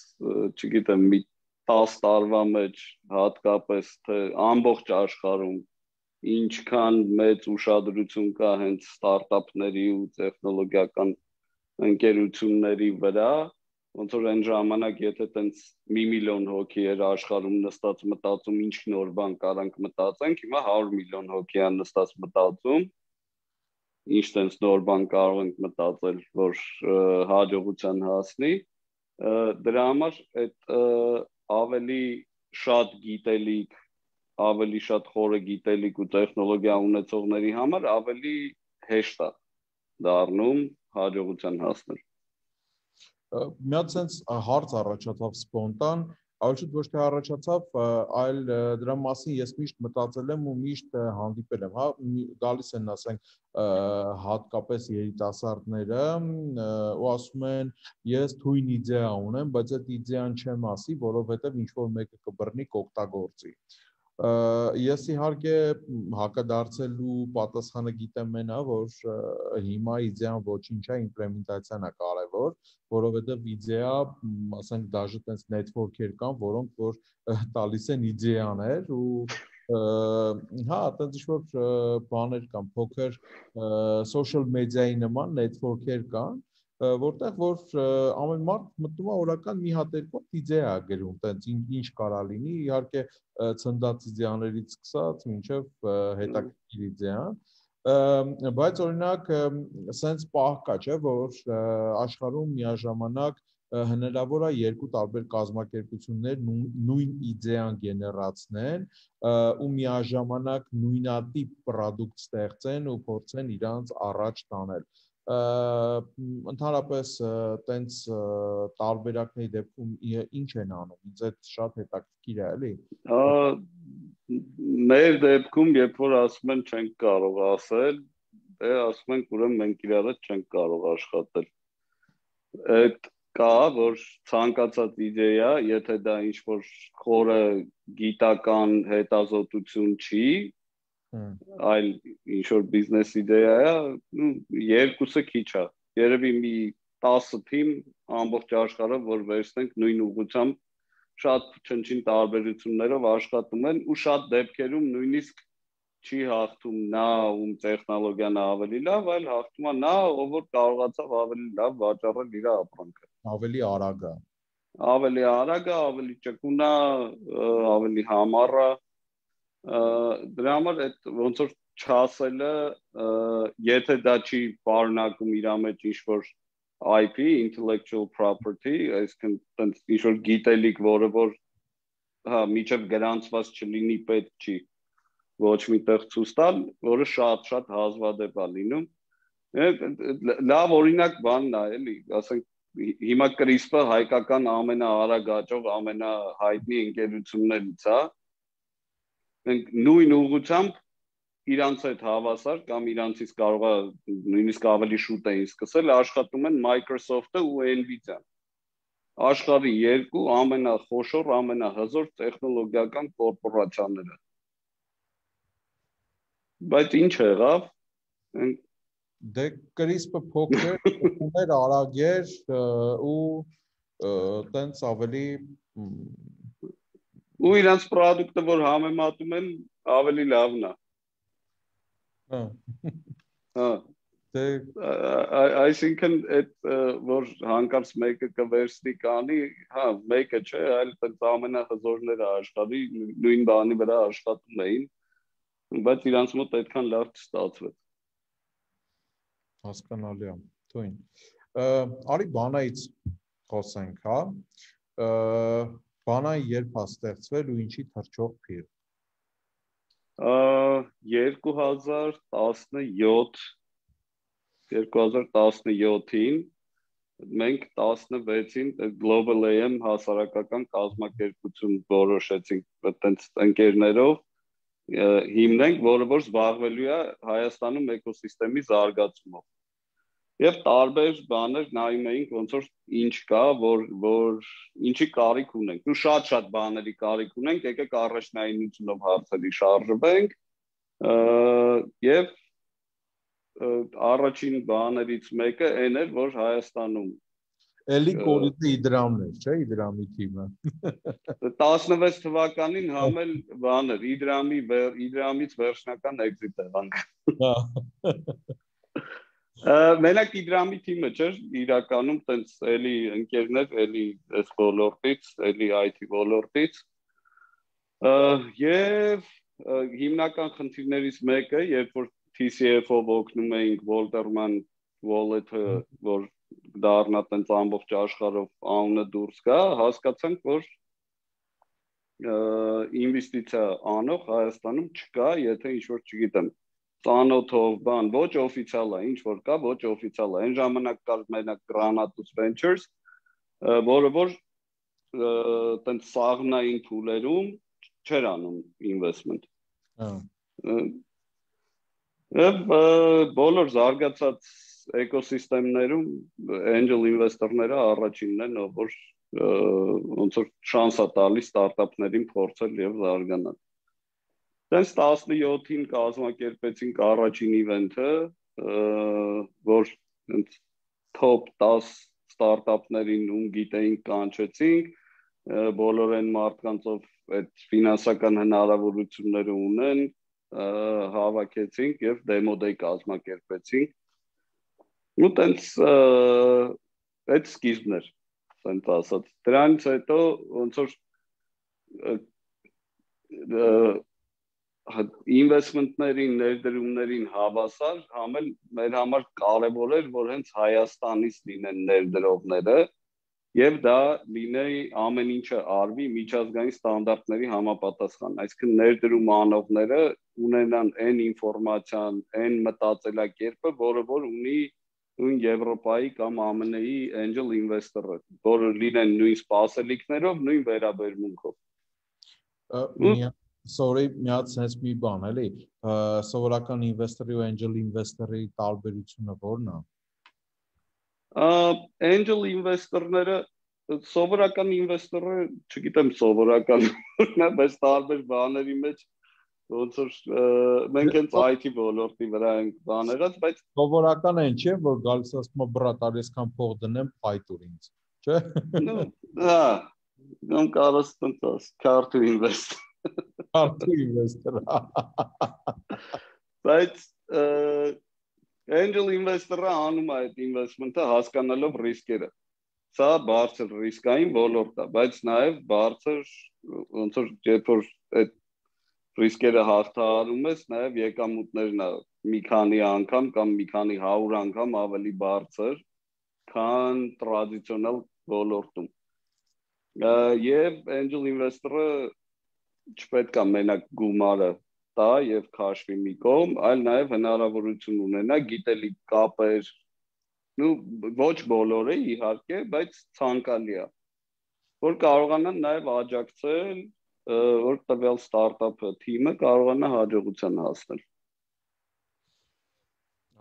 չգիտեմ մի տասը տարվա մեջ հատկապես թե ամբողջ աշխարհում ինչքան մեծ ուշադրություն կա հենց ստարտափների ու տեխնոլոգիական ընկերությունների վրա, ոնց որ այն ժամանակ եթե տենց մի միլիոն հոգի էր աշխարհում նստած մտածում ինչ նոր բան կարանք մտածենք, հիմա հարյուր միլիոն հոգի է նստած մտածում ինչ տենց նոր բան կարող ենք մտածել, որ հաջողության հասնի, դրա համար այդ ավելի շատ գիտելիք, ավելի շատ խորը գիտելիք ու տեխնոլոգիա ունեցողների համար ավելի հեշտ է դառնում հաջողության հասնել։ Մի հատ sense հարց առաջացավ սպոնտան, այլ ոչ թե առաջացավ, այլ դրա մասին ես միշտ մտածել եմ ու միշտ հանդիպել եմ, հա, գալիս են ասենք հատկապես երիտասարդները ու ասում են ես թույն իդեա ունեմ, բայց այդ իդեան չեմ ասի, որովհետև ինչ որ մեկը կբռնի կօգտագործի։ Ես իհարկե հակադարձելու պատասխանը գիտեմ մենա, որ հիմա իդեան ոչինչ է, իմպլեմենտացիան է կարևոր։ օր, որովհետև իդեա, ասենք դաժե տենց network-եր կան, որոնք որ տալիս են իդեաներ ու հա, տենց ինչ-որ բաներ կան, փոքր social media-ի նման network-եր կան, որտեղ որ ամեն մարդ մտնում է օրական մի հատ երկու իդեա գրում, տենց ինչ կարա լինի, իհարկե ցնդած իդեաներից սկսած մինչև հետաքրքիր իդեան, բայց օրինակ սենց պահ կա, չէ, որ աշխարհում միաժամանակ հնարավոր է երկու տարբեր կազմակերպություններ նույն իդեան գեներացնեն ու միաժամանակ նույնատիպ պրոդուկտ ստեղծեն ու փորձեն իրանց առաջ տանել։ Ընդհանրապես տենց տարբերակների դեպքում ինչ են անում, ինձ այդ շատ հետաքրքիր է, էլի։ Մեր դեպքում, երբ որ ասում են չենք կարող ասել, դե ասում ենք ուրեմն մենք իրար հետ չենք կարող աշխատել։ Այդ կա, որ ցանկացած իդեա, եթե դա ինչ-որ խորը գիտական հետազոտություն չի, այլ ինչ-որ բիզնես իդեա է, երկուսը քիչ է։ Երևի մի տասը թիմ ամբողջ աշխարհով, որ վերցնենք նույն ուղղությամբ շատ չնչին տարբերություններով աշխատում են ու շատ դեպքերում նույնիսկ չի հաղթում նա, ում տեխնոլոգիան ավելի լավ, այլ հաղթում է նա, ով որ կարողացավ ավելի լավ վաճառել իր ապրանքը։ Ավելի արագ է։ Ավելի արագ է, ավելի ճկուն է, ավելի համառ է։ Դրա համար այդ ոնց որ չասելը, եթե դա չի պարունակում իր մեջ ինչ-որ I P, intellectual property, այսինքն տենց ինչ-որ գիտելիք, որը որ հա միջև գրանցված չլինի, պետք չի ոչ միտեղ ցույց տալ, որը շատ-շատ հազվադեպ է լինում։ Լավ օրինակ բանն է, էլի, ասենք հիմա CRISPR-ը հայկական ամենաարագ աճող, ամենահայտնի ընկերություններից է։ Մենք նույն ուղղությամբ իրանց հետ հավասար կամ իրանցից կարող է նույնիսկ ավելի շուտ էին սկսել աշխատում են Microsoft-ը ու Nvidia-ն։ Աշխարհի երկու ամենախոշոր, ամենահզոր տեխնոլոգիական կորպորացիաները։ Բայց ինչ եղավ։ Դե CRISPR փոքր, ուներ արագ էր ու տենց ավելի ու իրանց պրոդուկտը, որ համեմատում են, ավելի լավն է։ Հա։ Հա։ Դե այսինքն այդ որ հանկարծ մեկը կվերցնի կանի, հա, մեկը չէ, այլ տենց ամենահզորները աշխարհի նույն բանի վրա աշխատում էին, բայց իրանց մոտ այդքան լավ չստացվեց։ Հասկանալի է, թույն։ Արի բանայից խոսենք, հա։ Բանայի երբ է ստեղծվել ու ինչի թռչող փիղ։ երկու հազար տասնյոթին մենք տասնվեցին Global A M հասարակական կազմակերպություն որոշեցինք այտենց ընկերներով հիմնենք, որը որ զբաղվելու է Հայաստանում էկոսիստեմի զարգացումով։ Եվ տարբեր բաներ նայում էինք, ոնց որ ինչ կա, որ որ ինչի կարիք ունենք։ Ու շատ-շատ բաների կարիք ունենք, եկեք առաջնայինությունով հարցերի շարժվենք։ Եվ առաջին բաներից մեկը այն էր, որ Հայաստանում Էլի կորիզը Իդրամն էր, չէ՞, Իդրամի թիմը։ տասնվեց թվականին համել բաներ, Իդրամի Իդրամից վերջնական էքզիտ եղանք։ Մենակ Իդրամի թիմը չէր, իրականում տենց էլի ընկերներ, էլի այս ոլորտից, էլի I T ոլորտից։ Եվ հիմնական խնդիրներից մեկը, երբ որ T C F-ով օգնում էինք Walterman Wallet-ը, որ դառնա տենց ամբողջ աշխարհով անունը դուրս գա, հասկացանք, որ ինվեստիցիա անող Հայաստանում չկա, եթե ինչ-որ չգիտեմ, ծանոթով բան, ոչ օֆիցիալ է, ինչ որ կա, ոչ օֆիցիալ է։ Այն ժամանակ կար մենակ Granatus Ventures, որը որ տենց սաղմնային փուլերում չէր անում investment։ Եվ բոլոր զարգացած էկոսիստեմներում angel investor-ները առաջինն են, որ ոնց որ շանս է տալիս ստարտափներին փորձել եւ զարգանալ։ Դες տասնյոթին կազմակերպեցինք առաջին իվենթը, որ top տասը ստարտափներին ում գիտեինք կանչեցինք, բոլոր այն մարդկանցով այդ ֆինանսական հնարավորությունները ունեն, հավաքեցինք եւ դեմո դեյ կազմակերպեցինք։ Ու տենց այդ սկիզբն էր, ասենք ասած։ Դրանից հետո ոնց որ ինվեստմենտներին, ներդրումներին հավասար, համ էլ մեր համար կարևոր էր, որ հենց Հայաստանից լինեն ներդրողները եւ դա լինի ամեն ինչը արվի միջազգային ստանդարտների համապատասխան, այսինքն ներդրում անողները ունենան այն ինֆորմացիան, այն մտածելակերպը, որը որ ունի նույն Եվրոպայի կամ ԱՄՆ -ի angel investor-ը, որը լինեն նույն սպասելիքներով, նույն վերաբերմունքով։ Sorry, մի հատ sense մի բան, էլի, սովորական investor-ի ու angel investor-ի տարբերությունը ո՞րն է։ Angel investor-ները սովորական investor-ը, չգիտեմ սովորական, բայց տարբեր բաների մեջ ոնց որ մենք հենց I T ոլորտի վրա ենք բաներած, բայց սովորական այն չէ, որ գալիս ասում է բրատ, արեսքան փող դնեմ, փայտուր ինձ, չէ։ Ну, հա, կամ կարաս տենց car to invest։ Car to investor։ Բայց angel investor-ը անում է այդ investment-ը հասկանալով ռիսկերը։ Սա բարձր ռիսկային ոլորտ է, բայց նաև բարձր ոնց որ երբ որ այդ ռիսկերը հաղթահարում ես, նաև եկամուտներն է մի քանի անգամ կամ մի քանի հարյուր անգամ ավելի բարձր, քան տրադիցիոնալ ոլորտում։ Եվ angel investor-ը չպետք է մենակ գումարը տա եւ քաշվի մի կողմ, այլ նաև հնարավորություն ունենա գիտելիք կապեր, ну ոչ բոլորը իհարկե, բայց ցանկալի է, որ կարողանան նաև աջակցել, որ տվյալ ստարտափը թիմը կարողանա հաջողության հասնել։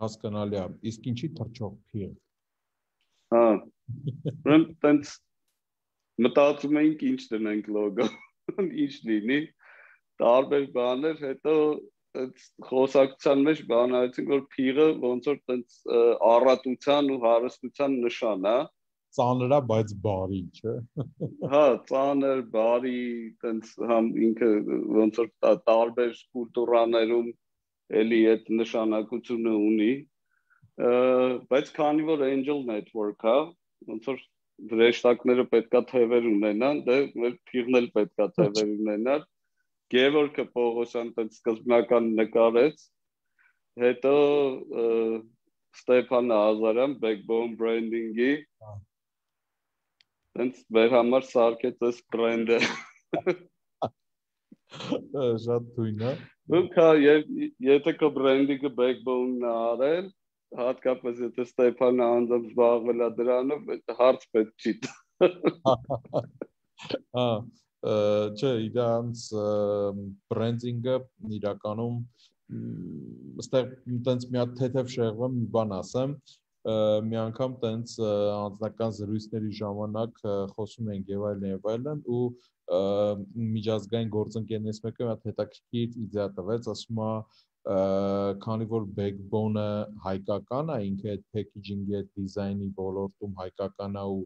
Հասկանալի է, իսկ ինչի թռչող փիղ։ Հա։ Ուրեմն տենց մտածում էինք ինչ դնենք լոգո, ինչ լինի, տարբեր բաներ, հետո խոսակցության մեջ բանալեցինք, որ փիղը ոնց որ տենց առատության ու հարստության նշան է։ Ծանր է, բայց բարի, չէ։ Հա, ծանր, բարի, տենց համ ինքը ոնց որ տարբեր կուլտուրաներում էլի այդ նշանակությունը ունի, բայց քանի որ angel network-ը, ոնց որ հրեշտակները պետքա թևեր ունենան, դե մեր փիղն էլ պետքա թևեր ունենար։ Գևորգը Պողոսյան տենց սկզբնական նկարեց, հետո Ստեփան Ազարյան Backbone Branding-ի տենց մեր համար սարքեց այս բրենդը։ Շատ թույն է։ Ու քա եթե քո բրենդինգը Backbone-ն է արել, հատկապես եթե Ստեփանը անձամբ զբաղվել է դրանով, հարց պետք չի։ Հա, չէ, իրանց բրենդինգը իրականում այստեղ տենց մի հատ թեթև շեղվում մի բան ասեմ, մի անգամ տենց անձնական զրույցների ժամանակ խոսում ենք եւ այլն եւ այլն ու միջազգային գործընկերներից մեկը մի հատ հետաքրքիր իդեա տվեց, ասում է քանի որ backbone-ը հայկական է, ինքը այդ packaging-ի այդ դիզայնի ոլորտում հայկական է ու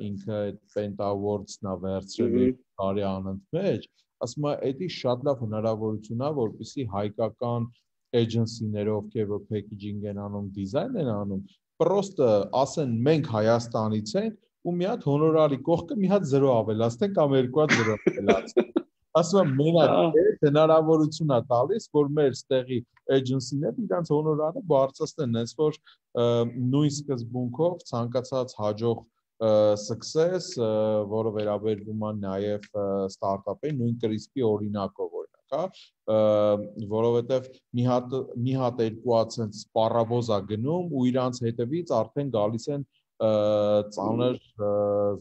ինքը այդ Penta Awards-ն է վերցրել տարի անընդմեջ, ասում է, դա շատ լավ հնարավորություն է, որպեսզի հայկական agency-ները, ովքեր որ packaging են անում, դիզայն են անում, պրոստը ասեն մենք Հայաստանից ենք ու մի հատ հոնորարի կողքը մի հատ զրո ավելացնենք կամ երկու հատ զրո ավելացնենք։ Ասում եմ, մենակ այդ հնարավորություն է տալիս, որ մեր ստեղի agency-ները իրանց հոնորարը բարձրացնեն, հենց որ նույն սկզբունքով ցանկացած հաջող success, որը վերաբերվում է նաև ստարտափի նույն կրիսպի օրինակով օրինակ, հա, որովհետև մի հատ մի հատ երկու հատ sense սպառավոզ է գնում ու իրանց հետևից արդեն գալիս են ծանր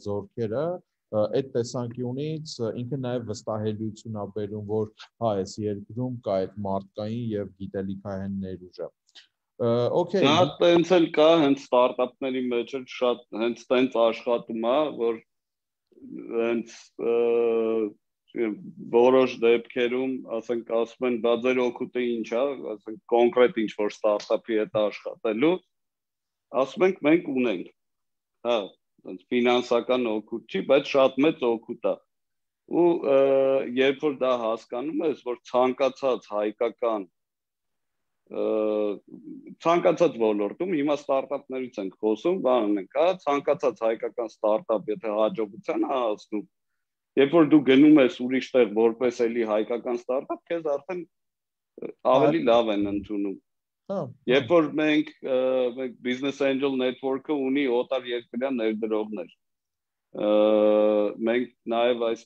զորքերը, այդ տեսանկյունից ինքը նաև վստահելիություն է բերում, որ հա, այս երկրում կա այդ մարդկային եւ գիտելիքահեն ներուժը։ Okay. Դա տենց էլ կա, հենց ստարտափների մեջ էլ շատ հենց տենց աշխատում է, որ հենց որոշ դեպքերում, ասենք, ասում են, բա ձեր օգուտը ինչ է, ասենք, կոնկրետ ինչ որ ստարտափի հետ աշխատելու, ասում ենք, մենք ունենք։ հա, ֆինանսական օգուտ չի, բայց շատ մեծ օգուտ է։ Ու երբ որ դա հասկանում ես, որ ցանկացած հայկական ցանկացած ոլորտում, հիմա ստարտափներից ենք խոսում, բանն ենք, հա, ցանկացած հայկական ստարտափ, եթե հաջողության է հասնում, երբ որ դու գնում ես ուրիշ տեղ որպես էլի հայկական ստարտափ, քեզ արդեն ավելի լավ են ընդունում։ Երբ որ մենք մենք Business Angel Network-ը ունի օտար երկրյա ներդրողներ, մենք նաև այս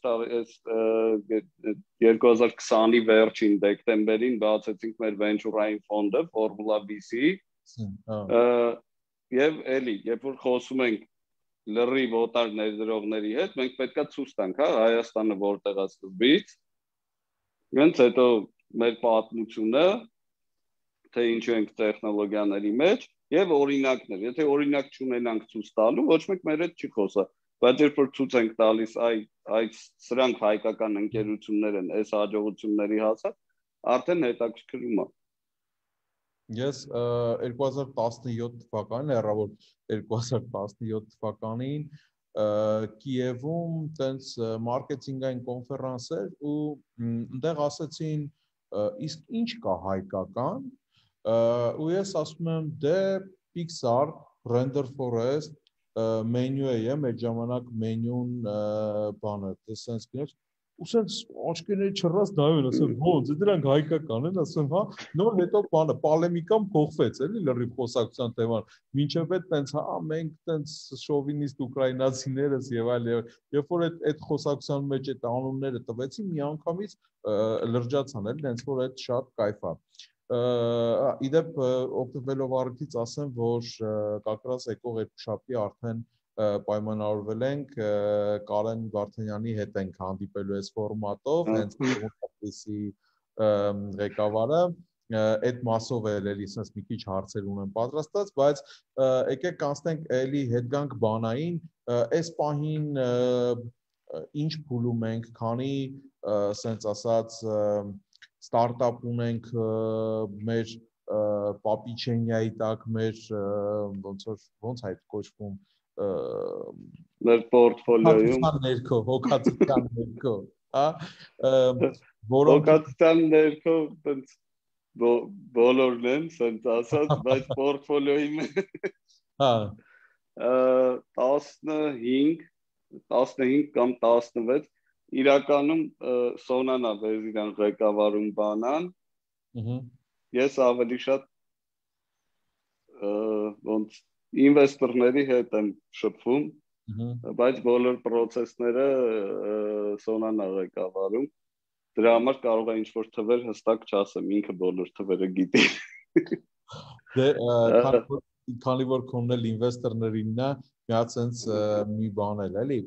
երկու հազար քսանի վերջին դեկտեմբերին բացեցինք մեր venture-ային ֆոնդը Formula V C, եւ էլի, երբ որ խոսում ենք լրիվ օտար ներդրողների հետ, մենք պետքա ցույց տանք, հա, Հայաստանը որտեղ է սկզբից, հենց հետո մեր պատմությունը, թե ինչու ենք տեխնոլոգիաների մեջ եւ օրինակներ, եթե օրինակ չունենանք ցույց տալու, ոչ մեկ մեր հետ չի խոսա, բայց երբ որ ցույց ենք տալիս, այ այս սրանք հայկական ընկերություններ են, այս հաջողությունների հասած, արդեն հետաքրքրում է։ Ես երկու հազար տասնյոթ թվականին, հեռավոր երկու հազար տասնյոթ թվականին Կիևում տենց մարքեթինգային կոնֆերանս էր ու այնտեղ ասեցին իսկ ինչ կա հայկական ու ես ասում եմ դե Pixar, Render Forest, մենյու է եմ, այդ ժամանակ մենյուն բանը, դեսենց գներ, ու սենց աչքերների չռած նայում են, ասեմ, ոնց, դրանք հայկական են, ասեմ, հա, նոր հետո բանը, պալեմիկան փոխվեց, էլի լրիվ խոսակցության թեման, մինչև այդ տենց, հա, մենք տենց շովինիստ ուկրաինացիներս եւ այլ, երբ որ այդ խոսակցության մեջ այդ անունները տվեցին, միանգամից լրջացան, էլի, տենց որ այդ շատ կայֆ է։ Իդեպ օգտվելով առիթից ասեմ, որ կակրաս եկող երկուշաբթի արդեն պայմանավորվել ենք Կարեն Վարդանյանի հետ ենք հանդիպելու այս ֆորմատով, հենց Կապրիսի ղեկավարը, այդ մասով էլ էլի sense մի քիչ հարցեր ունեմ պատրաստած, բայց եկեք կանցնենք էլի հետ գանք բանային, այս պահին ինչ փուլում ենք, քանի sense ասած ստարտափ ունենք մեր պապիչենյայի տակ, մեր ոնց որ ոնց այդ կոչվում մեր պորտֆոլիոյում ներքո, հոգացության ներքո, հա, որոնք հոգացության ներքո տենց բոլորն են, սենց ասած, բայց պորտֆոլիոյի մեջ հա տասնհինգ տասնհինգ կամ տասնվեց իրականում Սոնան է Վեզիրան ղեկավարում բանան, ես ավելի շատ ոնց ինվեստորների հետ եմ շփվում, բայց բոլոր պրոցեսները Սոնան է ղեկավարում, դրա համար կարող է ինչ-որ թվեր հստակ չասեմ, ինքը բոլոր թվերը գիտի։ Դե, քանի որ քոնն էլ ինվեստորներինն է, մի հատ սենց մի բան էլ, էլի,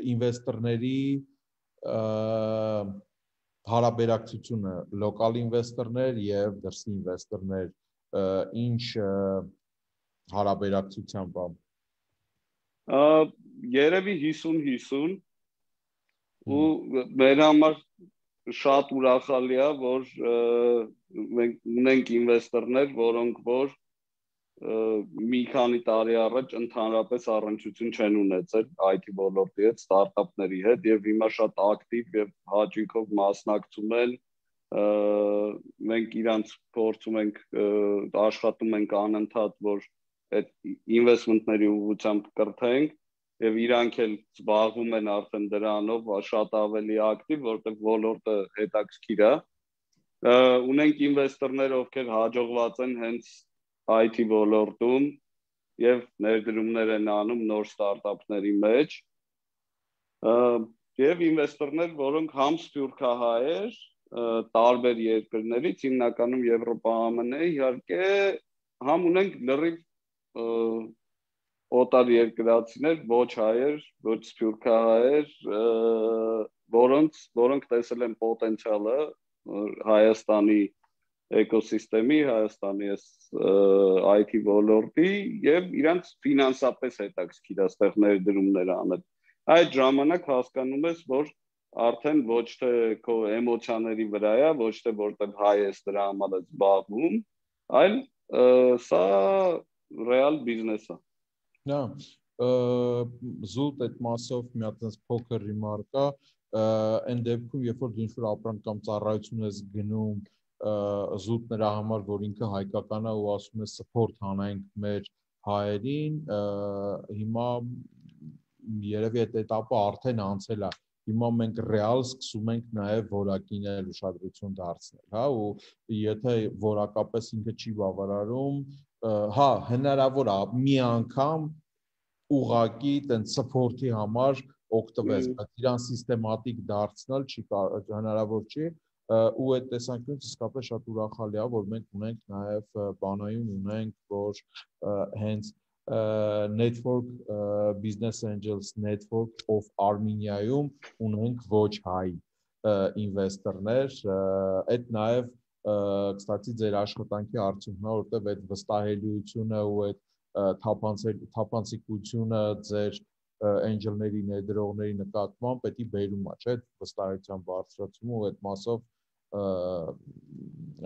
ինվեստորների հարաբերակցությունը լոկալ ինվեստորներ եւ դրսի ինվեստորներ ինչ հարաբերակցությամբ է երևի հիսուն հիսուն ու մեր համար շատ ուրախալի է որ մենք ունենք ինվեստորներ որոնք որ մի քանի տարի առաջ ընդհանրապես առնչություն չեն ունեցել I T ոլորտի հետ, ստարտափների հետ եւ հիմա շատ ակտիվ եւ հաճույքով մասնակցում են մենք իրանց փորձում ենք աշխատում ենք անընդհատ որ այդ ինվեստմենտների ուղղությամբ կրթենք եւ իրանք էլ զբաղվում են արդեն դրանով շատ ավելի ակտիվ որտեղ ոլորտը հետաքրքիր է ունենք ինվեստորներ ովքեր հաջողված են հենց I T ոլորտում եւ ներդրումներ են անում նոր ստարտափների մեջ եւ ինվեստորներ, որոնք համ սփյուռքահայեր, տարբեր երկրներից, հիմնականում Եվրոպա Ամն է, իհարկե համ ունենք լրիվ օտար երկրացիներ, ոչ հայեր, ոչ սփյուռքահայեր, որոնց որոնք տեսել են պոտենցիալը Հայաստանի էկոսիստեմի, Հայաստանի I T ոլորտի եւ իրանց ֆինանսապես հետաքրքիր է ստեղ ներդրումներ անել։ Այդ ժամանակ հասկանում ես, որ արդեն ոչ թե քո էմոցիաների վրա է, ոչ թե որտեղ հայ ես դրա համար է զբաղվում, այլ սա ռեալ բիզնես է։ Նա զուտ այդ մասով մի հատ այնպես փոքր ռիմարկ է, այն դեպքում երբ որ դու ինչ-որ ապրանք կամ ծառայություն ես գնում զուտ նրա համար, որ ինքը հայկական է ու ասում է support հանենք մեր հայերին, հիմա երևի այդ этаպը արդեն անցել է։ Հիմա մենք ռեալ սկսում ենք նաև որակին էլ ուշադրություն դարձնել, հա, ու եթե որակապես ինքը չի բավարարում, հա, հնարավոր է մի անգամ ուղակի տենց support-ի համար օգտվես, բայց իրան սիստեմատիկ դարձնել չի հնարավոր չի, ու այդ տեսանկյունից իսկապես շատ ուրախալի է, որ մենք ունենք նաև բանայում ունենք, որ հենց Network Business Angels Network of Armenia-ում ունենք ոչ հայ ինվեստորներ, այդ նաև կստացի ձեր աշխատանքի արդյունքն է, որտեղ այդ վստահելիությունը ու այդ թափանցիկությունը ձեր angel-ների ներդրողների նկատմամբ պետք է բերում է, չէ՞, վստահության բարձրացումը ու այդ մասով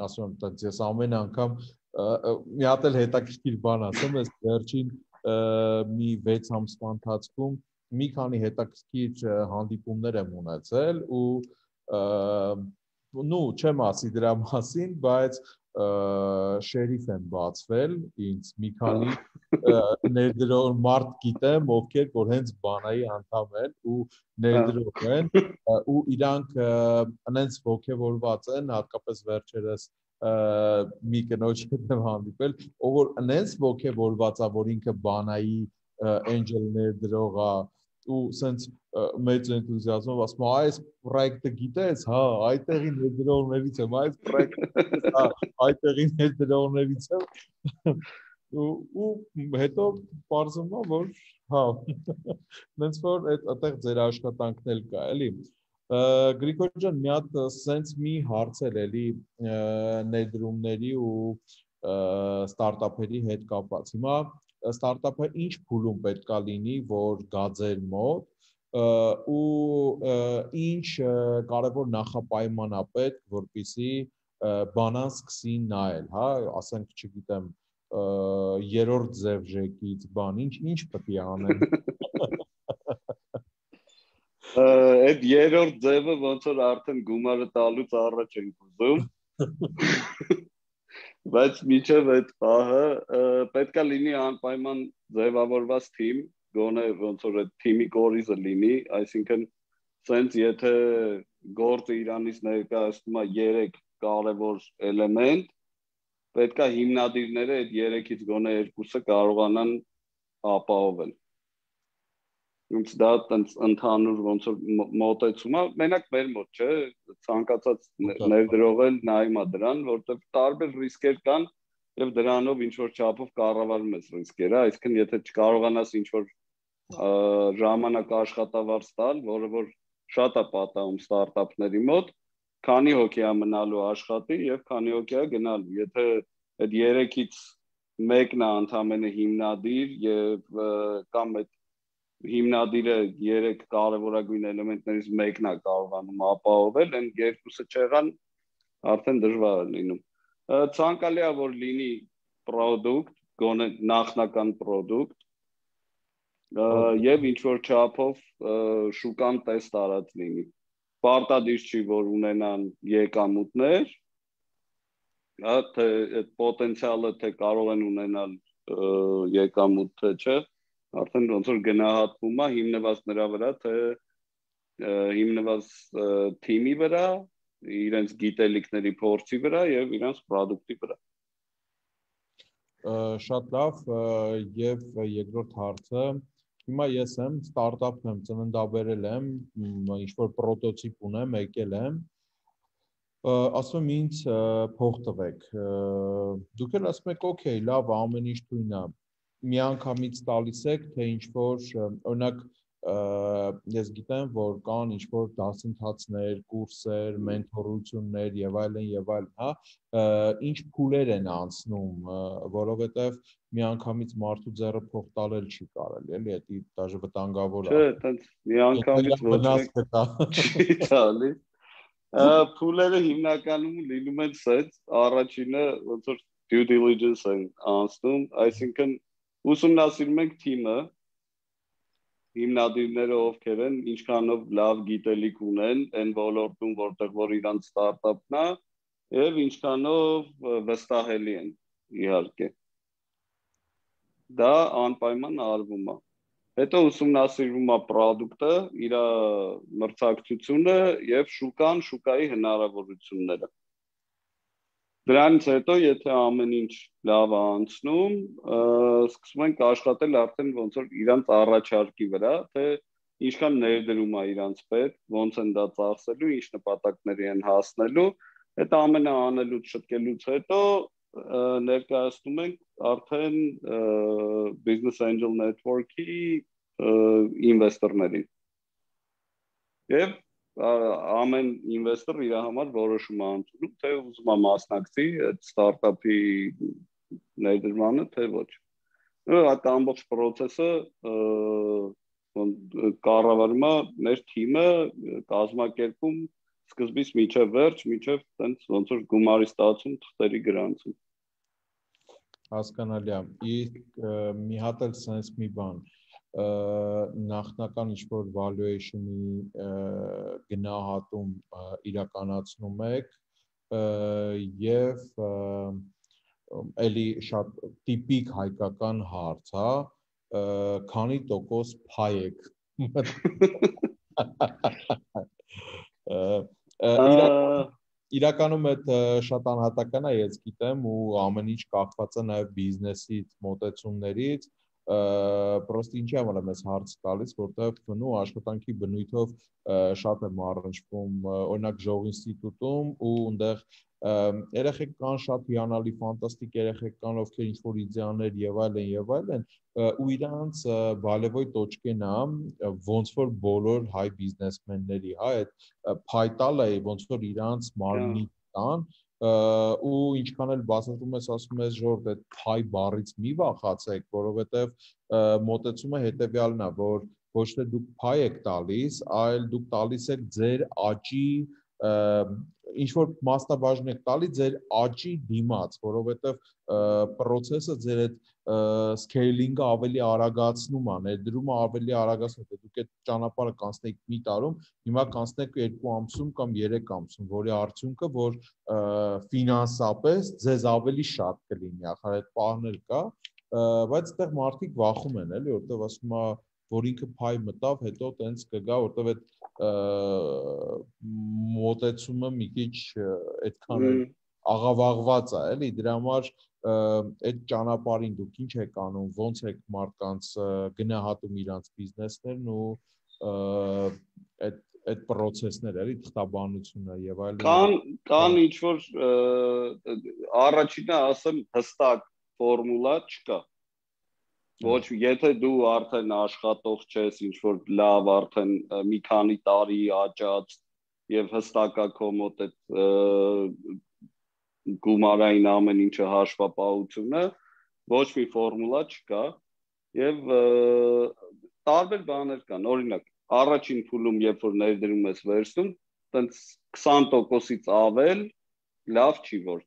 ասում եմ, ես ամեն անգամ մի հատ էլ հետաքրքիր բան ասեմ, ես վերջին մի վեց ամսվա ընթացքում մի քանի հետաքրքիր հանդիպումներ եմ ունեցել ու նու չեմ ասի դրա մասին, բայց շերիֆ եմ բացվել ինձ մի քանի ներդրող մարդ գիտեմ, ովքեր որ հենց բանայի անդամ են ու ներդրող են ու իրանք այնց ոգևորված են, հատկապես վերջերս մի կնոջ հետ եմ հանդիպել, ով որ այնց ոգևորված է, որ ինքը բանայի angel ներդրող է ու սենց մեծ էնտուզիազմով ասում է, այս պրոյեկտը գիտես, հա, այդտեղի ներդրողներից եմ, այս պրոյեկտը, հա, այդտեղի ներդրողներից եմ ու հետո պարզվում է, որ հա, նենց որ այդտեղ ձեր աշխատանքն էլ կա, էլի։ Գրիգոր ջան, մի հատ սենց մի հարց էլ էլի ներդրումների ու ստարտափերի հետ կապված։ Հիմա ստարտափը ինչ փուլում պետք է լինի, որ գա ձեր մոտ ու ինչ կարևոր նախապայման է պետք, որպեսզի բանան սկսի նայել, հա, ասենք, չգիտեմ, երրորդ ձևժեկից բան, ինչ ինչ պետք է անեն։ Այդ երրորդ ձևը ոնց որ արդեն գումարը տալուց առաջ ենք ուզում։ Բայց միջև այդ պահը պետք է լինի անպայման ձևավորված թիմ, գոնե ոնց որ այդ թիմի կորիզը լինի, այսինքն սենց եթե գործը իրանից ներկայացնում է երեք կարևոր էլեմենտ, պետք է հիմնադիրները այդ երեքից գոնե երկուսը կարողանան ապահովել։ Ինձ դա ընդհանուր ոնց որ մոտեցում է, մենակ մեր մոտ, չէ, ցանկացած ներդրողել նայում է դրան, որտեղ տարբեր ռիսկեր կան եւ դրանով ինչ որ չափով կառավարում ես ռիսկերը, այսինքն եթե չկարողանաս ինչ որ ժամանակ աշխատավարձ տալ, որը որ շատ է պատահում ստարտափների մոտ, քանի հոգի է մնալու աշխատի եւ քանի հոգի է գնալու, եթե այդ երեքից մեկն է ընդամենը հիմնադիր եւ կամ այդ հիմնադիրը երեք կարևորագույն էլեմենտներից մեկն է կարողանում ապահովել, այն երկուսը չեղան, արդեն դժվար է լինում։ Ցանկալի է որ լինի product, գոնե նախնական product, եւ ինչ որ չափով շուկան տեստ արած լինի։ Պարտադիր չի որ ունենան եկամուտներ, հա, թե այդ պոտենցիալը թե կարող են ունենալ եկամուտ թե չէ, արդեն ոնց որ գնահատվում է հիմնված նրա վրա, թե հիմնված թիմի վրա, իրենց գիտելիքների փորձի վրա եւ իրենց product-ի վրա։ Շատ լավ, եւ երկրորդ հարցը, հիմա ես եմ ստարտափ եմ, ծննդաբերել եմ, ինչ որ պրոտոտիպ ունեմ, եկել եմ, ասում եմ ինձ փող տվեք։ Դուք էլ ասում եք, օքեյ, լավ, ամեն ինչ թույն է։ Միանգամից տալիս եք, թե ինչ որ, օրինակ, ես գիտեմ, որ կան ինչ որ դասընթացներ, կուրսեր, մենթորություններ եւ այլն եւ այլն, հա, ինչ փուլեր են անցնում, որովհետեւ միանգամից մարդու ձեռը փող տալել չի կարելի, էլի, դա դաժե վտանգավոր է։ Չէ, այտենց միանգամից ոչ մեկ չի տալի։ Փուլերը հիմնականում լինում են սենց, առաջինը ոնց որ due diligence են անցնում, այսինքն ուսումնասիրում ենք թիմը, հիմնադիրները ովքեր են, ինչքանով լավ գիտելիք ունեն այն ոլորտում, որտեղ որ իրանց ստարտափն է, եւ ինչքանով վստահելի են, իհարկե։ Դա անպայման արվում է։ Հետո ուսումնասիրվում է product-ը, իր մրցակցությունը եւ շուկան, շուկայի հնարավորությունները։ Դրանից հետո, եթե ամեն ինչ լավ է անցնում, սկսում ենք աշխատել արդեն ոնց որ իրանց առաջարկի վրա, թե ինչքան ներդրում է իրանց պետք, ոնց են դա ծախսելու, ինչ նպատակների են հասնելու, այդ ամենը անելուց շտկելուց հետո ներկայացնում ենք արդեն Business Angel Network-ի ինվեստորներին։ Եվ ամեն ինվեստոր իր համար որոշում է ընդունում, թե ուզում է մասնակցի այդ ստարտափի ներդրմանը, թե ոչ։ Այդ ամբողջ process-ը կառավարում է մեր թիմը, կազմակերպում սկզբից մինչև վերջ, մինչև տենց ոնց որ գումարի ստացում, թղթերի գրանցում։ Հասկանալի է։ Իսկ մի հատ էլ sense մի բան, նախնական ինչ-որ valuation-ի գնահատում իրականացնում եք եւ էլի շատ տիպիկ հայկական հարց, հա, քանի տոկոս փայ եք։ Իրականում այդ շատ անհատական է, ես գիտեմ, ու ամեն ինչ կախված է նաև բիզնեսից, մոտեցումներից, պրոստը ինչի համար է մեզ հարց տալիս, որտեղ բնու աշխատանքի բնույթով շատ եմ առնչվում, օրինակ Ժող ինստիտուտում ու այնտեղ երեխեք կան շատ հիանալի, ֆանտաստիկ երեխեք կան, ովքեր ինչ-որ իդեաներ եւ այլն եւ այլն, ու իրանց բալևոյ տոճկեն է, ոնց որ բոլոր հայ բիզնեսմենների, հա, այդ փայտալը է, ոնց որ իրանց մարմնի տան, ու ինչքան էլ բացատրում ես, ասում ես Ժորդ, այդ փայ բառից մի վախացեք, որովհետեւ մոտեցումը հետեւյալն է, որ ոչ թե դուք փայ եք տալիս, այլ դուք տալիս եք ձեր աճի ինչ որ մասնաբաժին եք տալի ձեր աճի դիմաց, որովհետև process-ը ձեր այդ scaling-ը ավելի արագացնում է, ներդրումը ավելի արագացնում է, դուք այդ ճանապարհը կանցնեք մի տարում, հիմա կանցնեք երկու ամսում կամ երեք ամսում, որի արդյունքը որ ֆինանսապես ձեզ ավելի շատ կլինի, ախր այդ պահն էլ կա, բայց այդտեղ մարդիկ վախում են, էլի, որտեղ ասում է որ ինքը փայ մտավ, հետո տենց կգա, որտեվ այդ մոտեցումը մի քիչ այդքան էլ աղավաղված է, էլի, դրա համար այդ ճանապարհին դուք ինչ եք անում, ոնց եք մարդկանց գնահատում իրանց բիզնեսներն ու այդ այդ process-ները, էլի, թղթաբանությունը եւ այլն։ Կան կան ինչ որ առաջինը ասեմ հստակ ֆորմուլա չկա։ Ոչ, եթե դու արդեն աշխատող ես, ինչ որ լավ արդեն մի քանի տարի աճած եւ հստակ է քո մոտ այդ գումարային ամեն ինչը հաշվապահությունը, ոչ մի ֆորմուլա չկա եւ տարբեր բաներ կան, օրինակ, առաջին փուլում երբ որ ներդրում ես վերցնում, տենց քսան տոկոսից ավել լավ չի որ։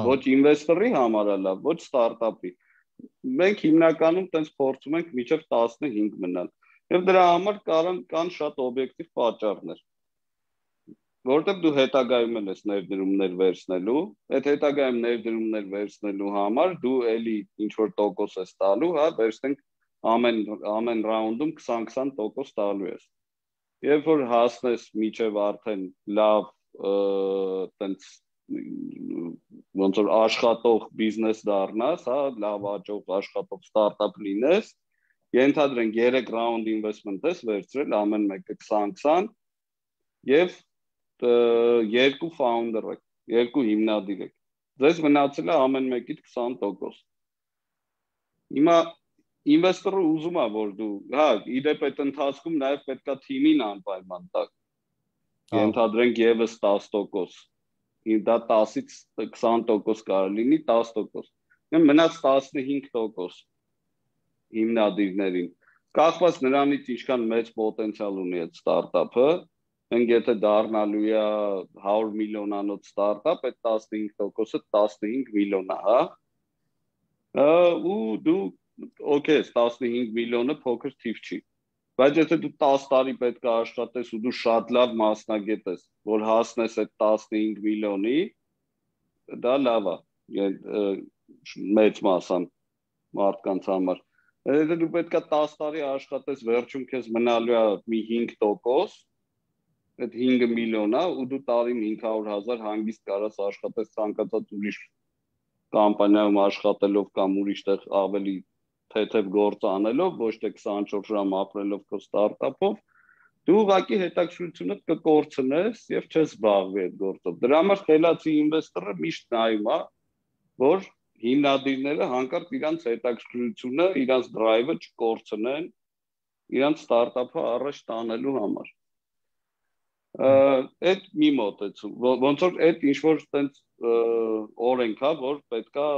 Ոչ ինվեստորի համար է լավ, ոչ ստարտափի։ Մենք հիմնականում տենց փորձում ենք մինչև տասնհինգ մնալ։ Եվ դրա համար կան կան շատ օբյեկտիվ պատճառներ։ Որտեղ դու հետագայում ես ներդրումներ վերցնելու, այդ հետագայում ներդրումներ վերցնելու համար դու էլի ինչ որ տոկոս ես տալու, հա, վերցնենք ամեն ամեն ռաունդում քսան-քսան տոկոս տալու ես։ Երբ որ հասնես մինչև արդեն լավ տենց ոնց որ աշխատող բիզնես դառնաս, հա, լավ աճող աշխատող ստարտափ լինես, ենթադրենք երեք ռաունդ ինվեստմենտ ես վերցրել, ամեն մեկը քսան-քսան եւ երկու ֆաունդեր եք, երկու հիմնադիր եք։ Ձեզ մնացել է ամեն մեկից քսան տոկոս։ Հիմա ինվեստորը ուզում է որ դու, հա, իդեպ այդ ընթացքում նաեւ պետքա թիմին անպայման տակ։ Ենթադրենք եւս տասը տոկոս։ Դա տասից քսան տոկոս կարող լինի, տասը տոկոս։ Մնաց տասնհինգ տոկոս հիմնադիրներին։ Կախված նրանից ինչքան մեծ պոտենցիալ ունի այդ ստարտափը, Մենք եթե դառնալու է հարյուր միլիոնանոց ստարտափ, այդ տասնհինգ տոկոսը տասնհինգ միլիոն է, հա։ Ու դու օքեյ, տասնհինգ միլիոնը փոքր թիվ չի։ Բայց եթե դու տասը տարի պետք է աշխատես ու դու շատ լավ մասնագետ ես, որ հասնես այդ տասնհինգ միլիոնի, դա լավ է, մեծ մասան մարդկանց համար։ Եթե դու պետք է տասը տարի աշխատես, վերջում քեզ մնալու է մի հինգ տոկոս, այդ հինգ միլիոն է, ու դու տարին հինգ հարյուր հազար հանգիստ կարաս աշխատես ցանկացած ուրիշ կամպանիայում աշխատելով կամ ուրիշ տեղ ավելի թեթև գործ անելով, ոչ թե քսանչորս ժամ ապրելով քո ստարտափով, դու ուղղակի հետաքրքրությունդ կկորցնես եւ չես զբաղվի այդ գործով։ Դրա համար խելացի ինվեստորը միշտ նայում է, որ հիմնադիրները հանկարծ իրանց հետաքրքրությունը, իրանց դրայվը չկորցնեն իրանց ստարտափը առաջ տանելու համար։ Այդ մի մոտեցում, ոնց որ այդ ինչ որ տենց օրենք է, որ պետքա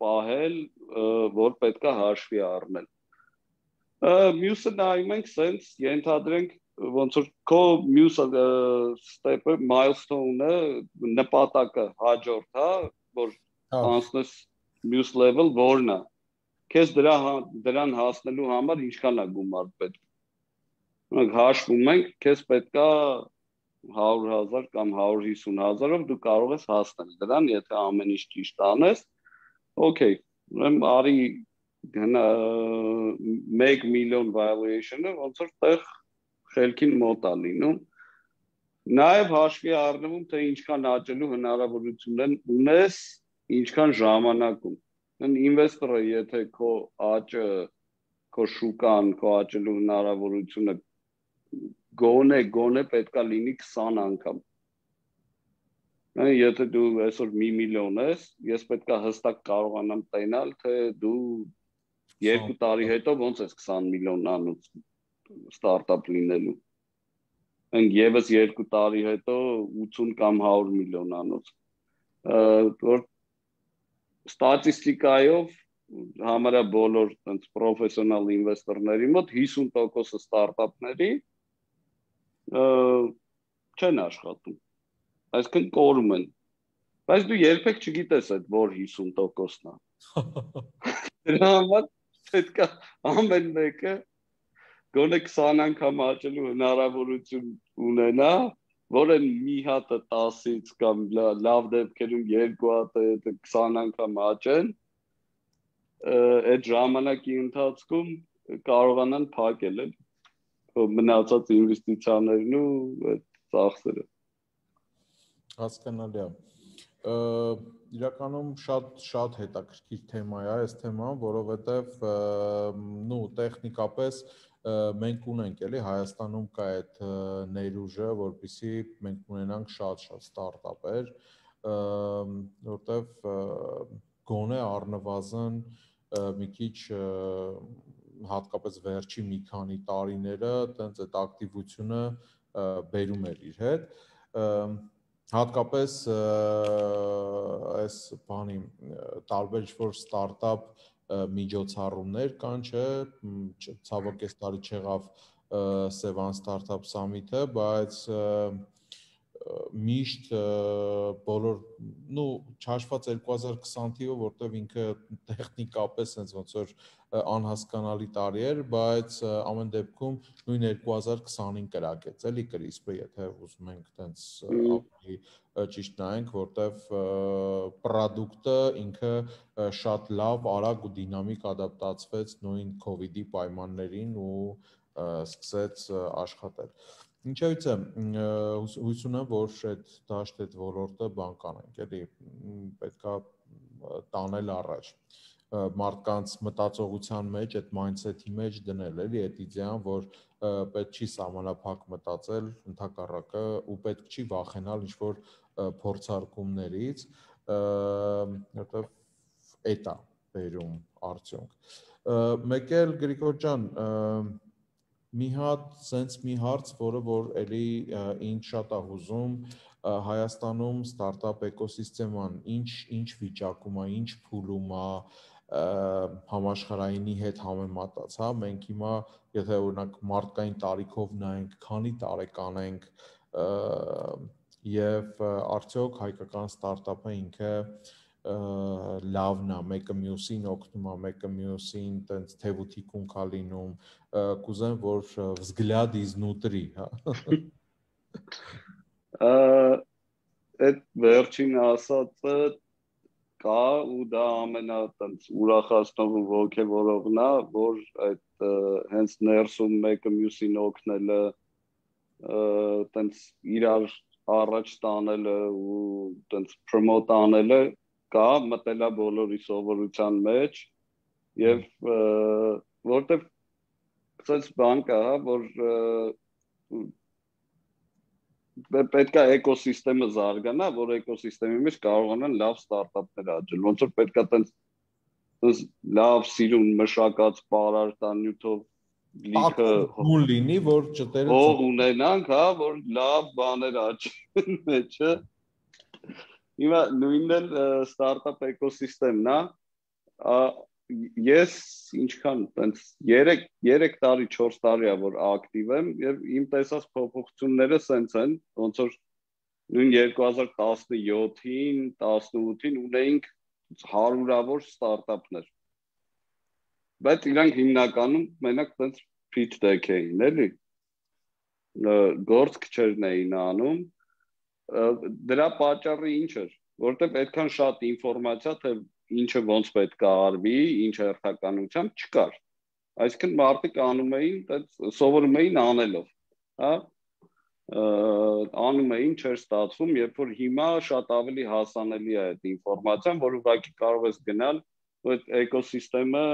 պահել, որ պետքա հաշվի առնել։ Մյուսը նայում ենք սենց ենթադրենք ոնց որ քո մյուս ստեպը, milestone-ը, նպատակը հաջորդ, հա, որ անցնես մյուս level որն է։ Քեզ դրա դրան հասնելու համար ինչքան է գումար պետք։ Մենք հաշվում ենք, քեզ պետքա հարյուր հազար կամ հարյուր հիսուն հազարով դու կարող ես հասնել դրան, եթե ամեն ինչ ճիշտ անես, օքեյ, ուրեմն արի մեկ միլիոն valuation-ը ոնց որ տեղ խելքին մոտ է լինում, նաև հաշվի առնվում, թե ինչքան աճելու հնարավորություն ունես, ինչքան ժամանակում։ Ինվեստորը, եթե քո աճը, քո շուկան, քո աճելու հնարավորությունը գոնե գոնե պետքա լինի քսան անգամ։ Եթե դու այսօր մի միլիոն ես, ես պետքա հստակ կարողանամ տենալ, թե դու երկու տարի հետո ոնց ես քսան միլիոնանոց ստարտափ լինելու։ Մենք եւս երկու տարի հետո ութուն կամ հարյուր միլիոնանոց։ Որ ստատիստիկայով համարյա բոլոր այնց պրոֆեսիոնալ ինվեստորների մոտ հիսուն տոկոսը ստարտափների չեն աշխատում, այսինքն կորում են, բայց դու երբեք չգիտես այդ որ հիսուն տոկոսն է։ Դրա համար պետք է ամեն մեկը գոնե քսան անգամ աճելու հնարավորություն ունենա, որ այն մի հատը տասից կամ լավ դեպքերում երկու հատը քսան անգամ աճեն, այդ ժամանակի ընթացքում կարողանան փակել են մնացած ինվեստիցիաներն ու այդ ծախսերը։ Հասկանալի է։ Իրականում շատ շատ հետաքրքիր թեմա է այս թեման, որովհետև նու տեխնիկապես մենք ունենք էլի Հայաստանում կա այդ ներուժը, որպեսզի մենք ունենանք շատ-շատ ստարտափեր, որտեվ գոնե առնվազն մի քիչ հատկապես վերջի մի քանի տարիները տենց այդ ակտիվությունը բերում էր իր հետ, հատկապես այս բանի տարբեր ինչ-որ ստարտափ միջոցառումներ կան, չէ, ցավոք այս տարի չեղավ Sevan Startup Summit-ը, բայց միշտ բոլոր, նու չհաշված երկու հազար քսան թիվը, որտեվ ինքը տեխնիկապես sense ոնց որ անհասկանալի տարի էր, բայց ամեն դեպքում նույն երկու հազար քսանին կրակեց, էլի կրիսպը, եթե ուզում ենք տենց ավելի ճիշտ նայենք, որտեվ պրոդուկտը ինքը շատ լավ, արագ ու դինամիկ ադապտացվեց նույն COVID-ի պայմաններին ու սկսեց աշխատել։ Ինչևիցե, հույս ունեմ, որ այդ դաշտ այդ ոլորտը բան կանենք, էլի պետքա տանել առաջ, մարդկանց մտածողության մեջ, այդ mindset-ի մեջ դնել, էլի այդ իդեան, որ պետք չի սահմանափակ մտածել, ընդհակառակը ու պետք չի վախենալ ինչ-որ փորձարկումներից, որտեվ էդ է բերում արդյունք։ Մեկ էլ Գրիգոր ջան, մի հատ սենց մի հարց, որը որ էլի ինձ շատ է հուզում, Հայաստանում ստարտափ էկոսիստեման ինչ ինչ վիճակում է, ինչ փուլում է, համաշխարհայինի հետ համեմատած, հա, մենք հիմա եթե օրինակ մարդկային տարիքով նայենք, քանի տարեկան ենք, եւ արդյոք հայկական ստարտափը ինքը լավն է, մեկը մյուսին օգնում է, մեկը մյուսին տենց թևութիկուն կա լինում, կուզեմ, որ взгляд изнутри, հա։ Այդ վերջին ասածը կա ու դա ամենա տենց ուրախացնող ու ոգևորողն է, որ այդ հենց ներսում մեկը մյուսին օգնելը, տենց իրար առաջ տանելը ու տենց promote անելը կա, մտելա բոլորի սովորության մեջ եւ որտեվ ցած բան կա, որ պետք է էկոսիստեմը զարգանա, որ էկոսիստեմի մեջ կարողանան լավ ստարտափներ աճել։ Ոնց որ պետք է տենց լավ սիրուն մշակած պարարտանյութով լիքը հուն լինի, որ ճտերը հող ունենանք, հա, որ լավ բաներ աճեն մեջը։ Հիմա նույնն էլ ստարտափ էկոսիստեմն է։ Ես ինչքան տենց երեք տարի, չորս տարի է որ ակտիվ եմ եւ իմ տեսած փոփոխությունները սենց են, ոնց որ նույն երկու հազար տասնյոթին, տասնութին ունեինք հարյուրավոր ստարտափներ։ Բայց իրանք հիմնականում մենակ տենց pitch deck էին, էլի։ Գործ քչերն էին անում։ Դրա պատճառը ինչ էր, որտեղ այդքան շատ ինֆորմացիա թե ինչը ոնց պետք է արվի, ինչ հերթականությամբ չկար։ Այսինքն մարդիկ անում էին, սովորում էին անելով, հա։ Անում էին, չէր ստացվում, երբ որ հիմա շատ ավելի հասանելի է այդ ինֆորմացիան, որ ուղղակի կարող ես գնալ, որ այդ էկոսիստեմը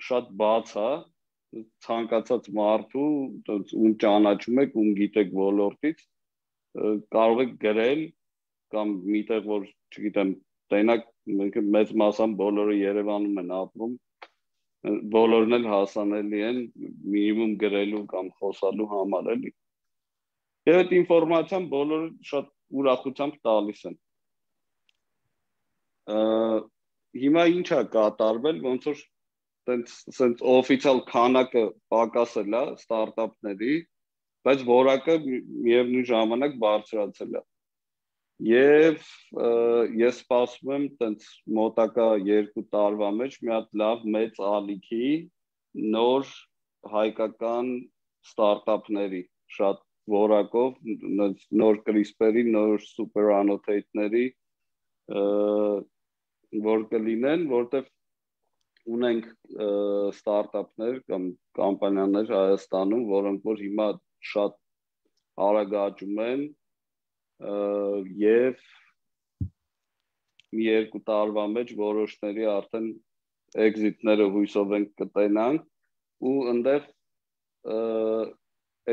շատ բաց է, ցանկացած մարդու, ում ճանաչում եք, ում գիտեք ոլորտից, կարող եք գրել կամ միտեղ որ, չգիտեմ, տենակ մեծ մասամբ բոլորը Երևանում են ապրում, բոլորն էլ հասանելի են մինիմում գրելու կամ խոսալու համար էլի։ Եվ այդ ինֆորմացիան բոլորը շատ ուրախությամբ տալիս են։ Հիմա ինչ է կատարվել, ոնց որ տենց օֆիցիալ քանակը պակասել է ստարտափների, բայց որակը միևնույն ժամանակ բարձրացել է։ Եվ ես սպասում եմ տենց մոտակա երկու տարվա մեջ մի հատ լավ մեծ ալիքի նոր հայկական ստարտափների շատ որակով, նոր CRISPR-ի, նոր super annotate-ների որ կլինեն, որտեղ ունենք ստարտափներ կամ կամպանիաներ Հայաստանում, որոնք որ հիմա շատ արագ աճում են եւ մի երկու տարվա մեջ որոշների արդեն exit-ները հույսով ենք կտենանք ու այնտեղ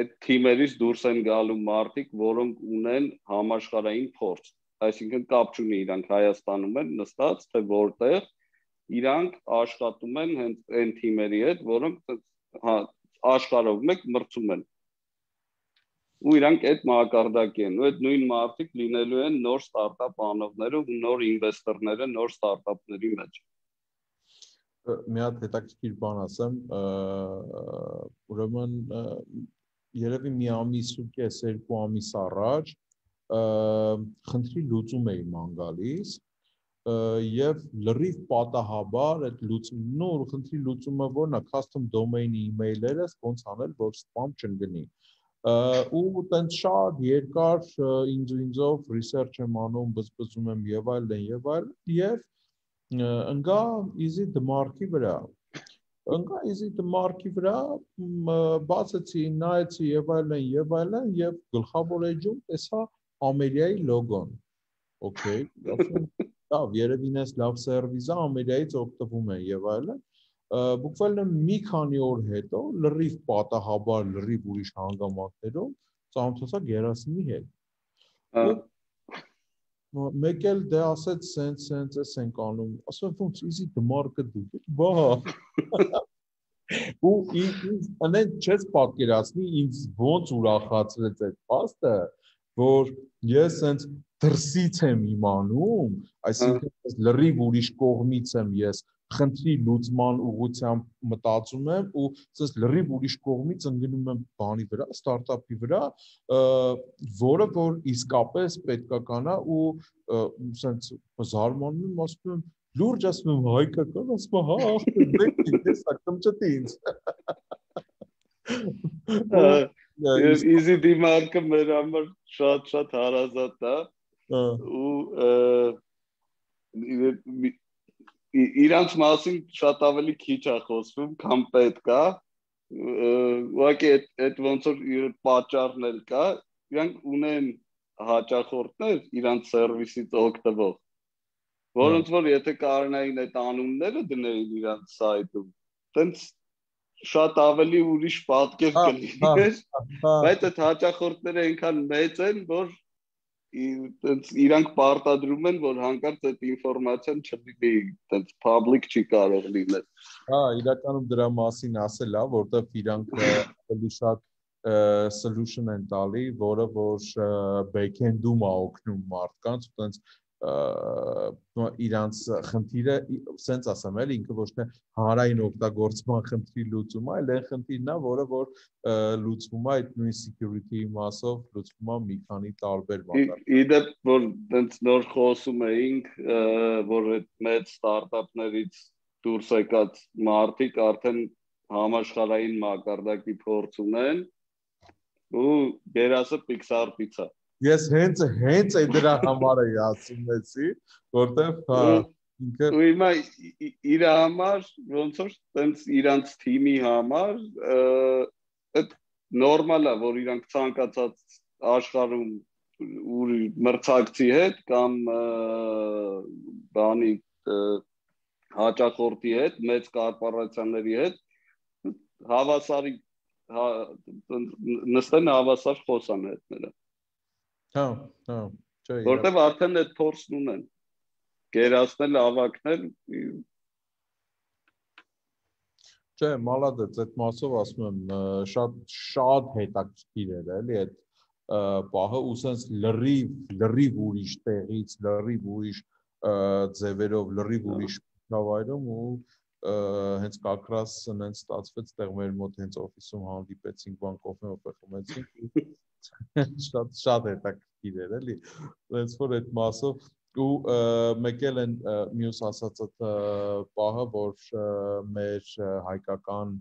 այդ թիմերից դուրս են գալու մարդիկ, որոնք ունեն համաշխարհային փորձ, այսինքն կապ չունի իրանք Հայաստանում են նստած, թե որտեղ իրանք աշխատում են հենց այն թիմերի հետ, որոնք աշխարհով մեկ մրցում են։ Ու իրանք այդ մակարդակի են, ու այդ նույն մարդիկ լինելու են նոր ստարտափ անողները ու նոր ինվեստորները նոր ստարտափների մեջ։ Մի հատ հետաքրքիր բան ասեմ, ուրեմն երևի մի ամիս ու կես, երկու ամիս առաջ խնդրի լուծում էի ման գալիս եւ լրիվ պատահաբար այդ լուծում, նոր խնդրի լուծումը որն է, custom domain-ի email-երը ոնց անել, որ spam չընկնի։ Ու տենց շատ երկար ինձ ու ինձով research եմ անում, բզբզում եմ եւ այլն եւ այլն եւ ընկա easy դմարկի վրա։ Ընկա easy դմարկի վրա, բացեցի, նայեցի եւ այլն եւ այլն եւ գլխավոր էջում տեսա Ամերիայի լոգոն։ Okay, լավ, երևի ինձ լավ սերվիս է, Ամերիայից օգտվում են եւ այլն։ Բուկվալն մի քանի օր հետո լրիվ պատահաբար լրիվ ուրիշ հանգամանքներով ծանոթացա Գերասիմի հետ։ Մեկ էլ դե ասեց սենց սենց էս ենք անում, ասում ոնց easy դմարկը դուք, բա։ Ու ինձ անեն չես պատկերացնի ինձ ոնց ուրախացրեց այդ փաստը, որ ես սենց դրսից եմ իմանում, այսինքն լրիվ ուրիշ կողմից եմ ես խնդրի լուծման ուղղությամբ մտածում եմ ու ասես լրիվ ուրիշ կողմից ընկնում եմ բանի վրա, ստարտափի վրա, որը որ իսկապես պետքական է ու ասես զարմանում եմ, ասում եմ լուրջ ասում եմ հայկական, ասում եմ հա, ախպեր, մեկ ես ակտմճտի ինձ։ Easy դիմարկը մեր համար շատ-շատ հարազատ է ու իրանց մասին շատ ավելի քիչ է խոսվում, քան պետք է, ուղղակի այդ ոնց որ պատճառն էլ կա, իրանք ունեն հաճախորդներ իրանց սերվիսից օգտվող, որոնց որ եթե կարողանային այդ անունները դնել իրանց սայթում, տենց շատ ավելի ուրիշ պատկեր կլիներ, բայց այդ հաճախորդները այնքան մեծ են, որ իրանք պարտադրում են, որ հանկարծ այդ ինֆորմացիան չլինի, այդպես public չի կարող լինել։ Հա, իրականում դրա մասին ասել է, որտեղ իրանք ավելի շատ solution են տալի, որը որ back-end-ում է օգնում մարդկանց, այդպես իրանց խնդիրը, սենց ասեմ էլ, ինքը ոչ թե հանրային օգտագործման խնդրի լուծում է, այլ այն խնդիրն է, որը որ լուծվում է այդ նույն security մասով, լուծվում է մի քանի տարբեր մակարդակով։ Իդեպ, որ տենց նոր խոսում էինք, որ այդ մեծ ստարտափներից դուրս եկած մարդիկ արդեն համաշխարհային մակարդակի փորձ ունեն ու երասը Pixar Pizza։ Ես հենց հենց այդ դրա համար էի ասումեցի, որտեղ հա ինքը ու հիմա իր համար ոնց որ տենց իրանց թիմի համար այդ նորմալ է, որ իրանք ցանկացած աշխարհում ուր մրցակցի հետ կամ բանի հաճախորդի հետ, մեծ կորպորացիաների հետ հավասարի նստեն հավասար խոսան հետները։ Հա, հա, չէ։ Որտեվ արդեն այդ փորձն ունեն։ Գերացնել, ավակնել։ Չէ, մալադեց, այդ մասով ասում եմ, շատ շատ հետաքրքիր էր, էլի այդ պահը ու sense լրիվ, լրիվ ուրիշ տեղից, լրիվ ուրիշ ձևերով, լրիվ ուրիշ միջավայրում ու հենց կակրաս նենց ստացվեց, տեղ մեր մոտ հենց օֆիսում հանդիպեցինք, բան կոֆե մոփե խմեցինք շատ շատ հետաքրքիր էր էլի այնց որ այդ մասով ու մեկ էլ են մյուս ասած այդ պահը որ մեր հայկական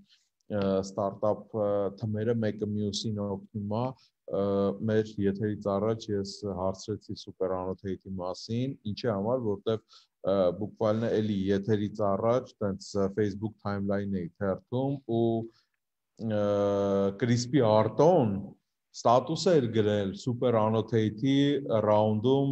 ստարտափ թմերը մեկը մյուսին օգնում է մեր եթերից առաջ ես հարցրեցի Super Annotate-ի մասին ինչի համար որտեվ բուկվալն էլի եթերից առաջ տենց Facebook timeline-ը թերթում ու Crispy Arton ստատուս էր գրել Super Annotate-ի ռաունդում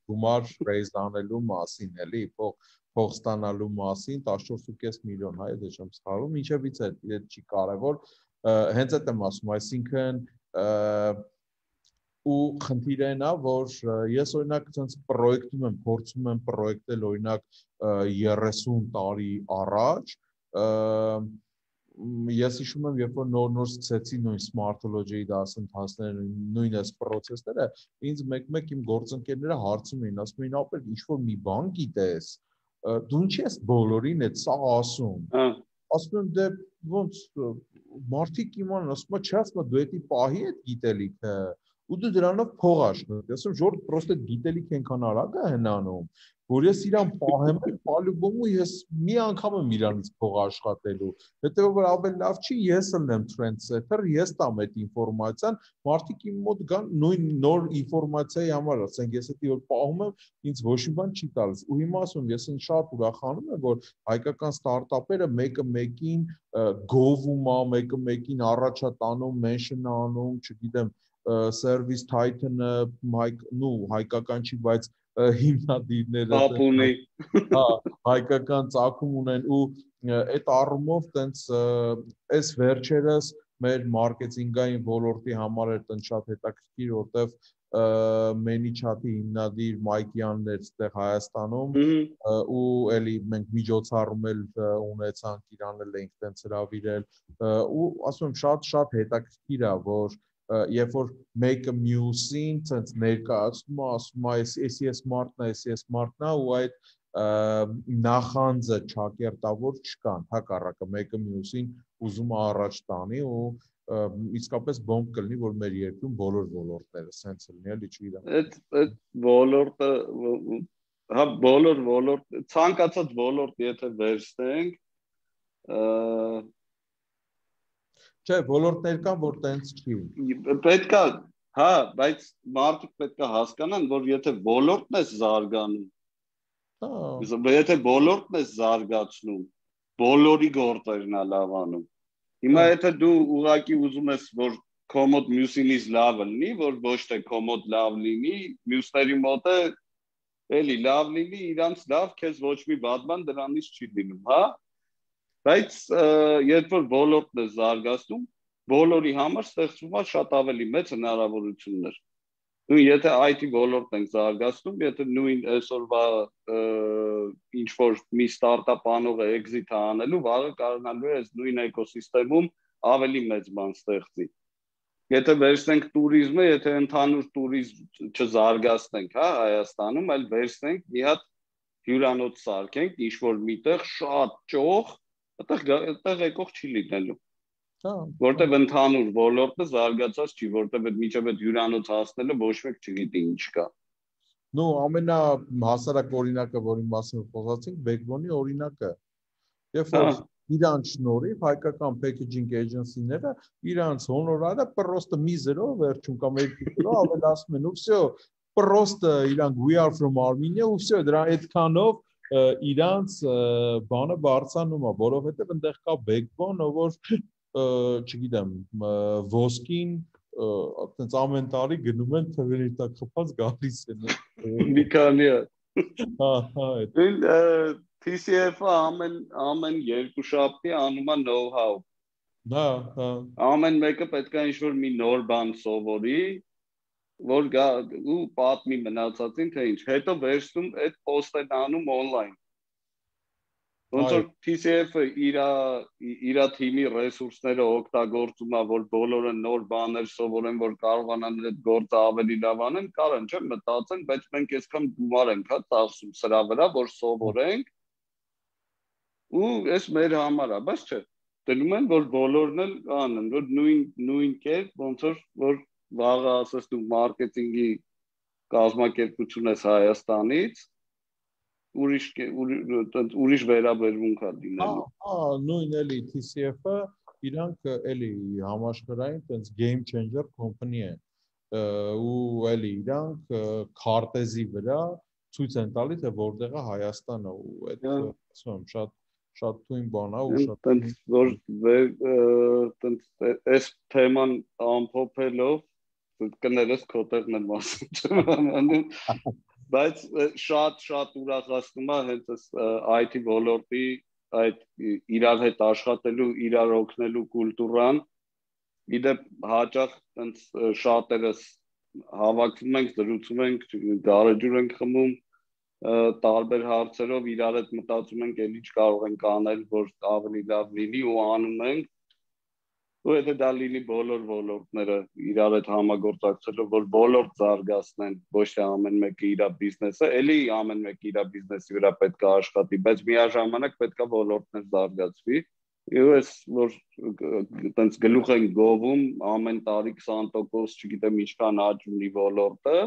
գումար raise անելու մասին, էլի, փող փող ստանալու մասին տասնչորս ու կես միլիոն հայ դե չեմ սխալվում, ինչևից է, այդ չի կարևոր, հենց այդ եմ ասում, այսինքն ու խնդիրը նա, որ ես օրինակ ցենց պրոյեկտում եմ, փորձում եմ պրոյեկտել օրինակ երեսուն տարի առաջ ես հիշում եմ, երբ որ նոր-նոր սկսեցի նույն Smartology-ի դասընթացները, նույն այս process-ները, ինձ մեկ-մեկ իմ գործընկերները հարցում էին, ասում էին, ապեր, ինչ-որ մի բան գիտես, դու ինչի ես բոլորին այդ սա ասում։ Ասում եմ, դե ոնց մարդիկ իմանան, ասում եմ, չէ, ասում եմ, դու էդի պահի այդ գիտելիքը, ու դու դրանով փող աշխատես, ասում եմ, ժորդ պրոստը գիտելիք ենքան արագ է հնանում, որ ես իրան պահեմ էլ պալուբոմու ես մի անգամ եմ իրանից փող աշխատելու, հետևաբար որ ավելի լավ չի ես ըլնեմ trendsetter, ես տամ այդ ինֆորմացիան, մարդիկ իմ մոտ գան նույն նոր ինֆորմացիայի համար, ասենք ես էդի որ պահում եմ, ինձ ոչ մի բան չի տալիս, ու հիմա ասում եմ, ես շատ ուրախանում եմ, որ հայկական ստարտափերը մեկը մեկին գովում է, մեկը մեկին առաջա տանում, mention անում, չգիտեմ, service titan-ը, նու հայկական չի, բայց հիմնադիրները ապունի հա հայկական ծագում ունեն ու այդ առումով տենց այս վերջերս մեր մարքեթինգային ոլորտի համար էր տենց շատ հետաքրքիր որտեվ ManyChat-ի հիմնադիր Մայկյանն էր այդտեղ Հայաստանում ու էլի մենք միջոցառում էլ ունեցանք իրան էլ ենք տենց հրավիրել ու ասում եմ շատ շատ հետաքրքիր է որ երբ որ մեկը մյուսին ցենց ներկայացնում է, ասում է, էսի էս մարդն է, էսի էս մարդն է ու այդ նախանձը ճակերտավոր չկան, հակառակը մեկը մյուսին ուզում է առաջ տանի ու իսկապես բոմբ կլինի, որ մեր երկրում բոլոր ոլորտները սենց լինի, էլի չգիտեմ։ Այդ այդ ոլորտը հա բոլոր ոլորտ ցանկացած ոլորտ եթե վերցնենք Չէ, ոլորտներ կան, որ տենց չի։ Պետքա, հա, բայց մարդիկ պետք է հասկանան, որ եթե ոլորտն է զարգանում, եթե ոլորտն է զարգացնում, բոլորի գործերն է լավանում։ Հիմա եթե դու ուղղակի ուզում ես, որ քո մոտ մյուսինից լավը լինի, որ ոչ թե քո մոտ լավ լինի, մյուսների մոտ է էլի լավ լինի, իրանց լավ, քեզ ոչ մի բան բան դրանից չի լինում, հա։ Բայց երբ որ ոլորտն է զարգացնում, բոլորի համար ստեղծվում է շատ ավելի մեծ հնարավորություններ։ Ու եթե I T ոլորտն ենք զարգացնում, եթե նույն այսօրվա ինչ որ մի ստարտափ անողը exit անելու, վաղը կարողանալու է այս նույն էկոսիստեմում ավելի մեծ բան ստեղծի։ Եթե վերցնենք տուրիզմը, եթե ընդհանուր տուրիզմ չզարգացնենք, հա, Հայաստանում, այլ վերցնենք մի հատ հյուրանոց սարքենք, ինչ որ միտեղ շատ ճոխ, այդտեղ եկող չի լինելու։ Որտեւ ընդհանուր ոլորտը զարգացած չի, որտեւ այդ միջև այդ հյուրանոց հասնելը ոչ մեկ չգիտի ինչ կա։ Ну, ամենահասարակ օրինակը, որի մասին խոսացինք, Backbone-ի օրինակը։ Երբ որ իրանց շնորհիվ հայկական packaging agency-ները իրանց հոնորարը պրոստը միզերով վերջում կամ երկու կիլո ավելացնում են, ու всё, պրոստը իրանք we are from Armenia, ու всё, դրա այդքանով իրանց բանը բարձանում է, որովհետեւ այնտեղ կա Backbone, որ չգիտեմ, ոսկին այտենց ամեն տարի գնում են թվերի տակ խփած գալիս են։ Մի քանի է։ Հա, հա, այդ։ T C F-ը ամեն ամեն երկու շաբթի անում է know-how։ Հա, հա։ Ամեն մեկը պետք է ինչ-որ մի նոր բան սովորի, որ գա ու պատմի մնացածին թե ինչ։ Հետո վերցնում այդ post-ն անում online։ Ոնց որ T C F-ը իր իր թիմի ռեսուրսները օգտագործում է, որ բոլորը նոր բաներ սովորեն, որ կարողանան այդ գործը ավելի լավ անեն, կարան չէ մտածեն, բայց մենք այսքան գումար ենք հա ծախսում սրա վրա, որ սովորենք։ Ու այս մեր համար է, բայց չէ։ Դնում են, որ բոլորն էլ անեն, որ նույն նույն կերպ, ոնց որ որ վաղը ասես դու մարքեթինգի կազմակերպություն ես Հայաստանից, ուրիշ ուրիշ վերաբերմունք է դինելու։ Հա, նույն էլի T C F-ը իրանք էլի համաշխարհային տենց game changer company է։ Ու էլի իրանք քարտեզի վրա ցույց են տալի, թե որտեղ է Հայաստանը ու այդ ասում եմ շատ շատ թույն բան է ու շատ տենց որ տենց այս թեման ամփոփելով կներես քոտեղն եմ ասում։ Բայց շատ շատ ուրախացնում է հենց այս I T ոլորտի այդ իրար հետ աշխատելու, իրար օգնելու կուլտուրան։ Իդեպ հաճախ այնց շատերս հավաքվում ենք, զրուցում ենք, գարեջուր ենք խմում, տարբեր հարցերով իրար հետ մտածում ենք, էլ ինչ կարող ենք անել, որ ավելի լավ լինի ու անում ենք։ Ու եթե դա լինի բոլոր ոլորտները իրար հետ համագործակցելով, որ ոլորտ զարգացնեն, ոչ թե ամեն մեկը իր բիզնեսը, էլի ամեն մեկը իր բիզնեսի վրա պետք է աշխատի, բայց միաժամանակ պետք է ոլորտներ զարգացվի։ Ու ես որ տենց գլուխ են գովում ամեն տարի քսան տոկոս, չգիտեմ ինչքան աճ ունի ոլորտը,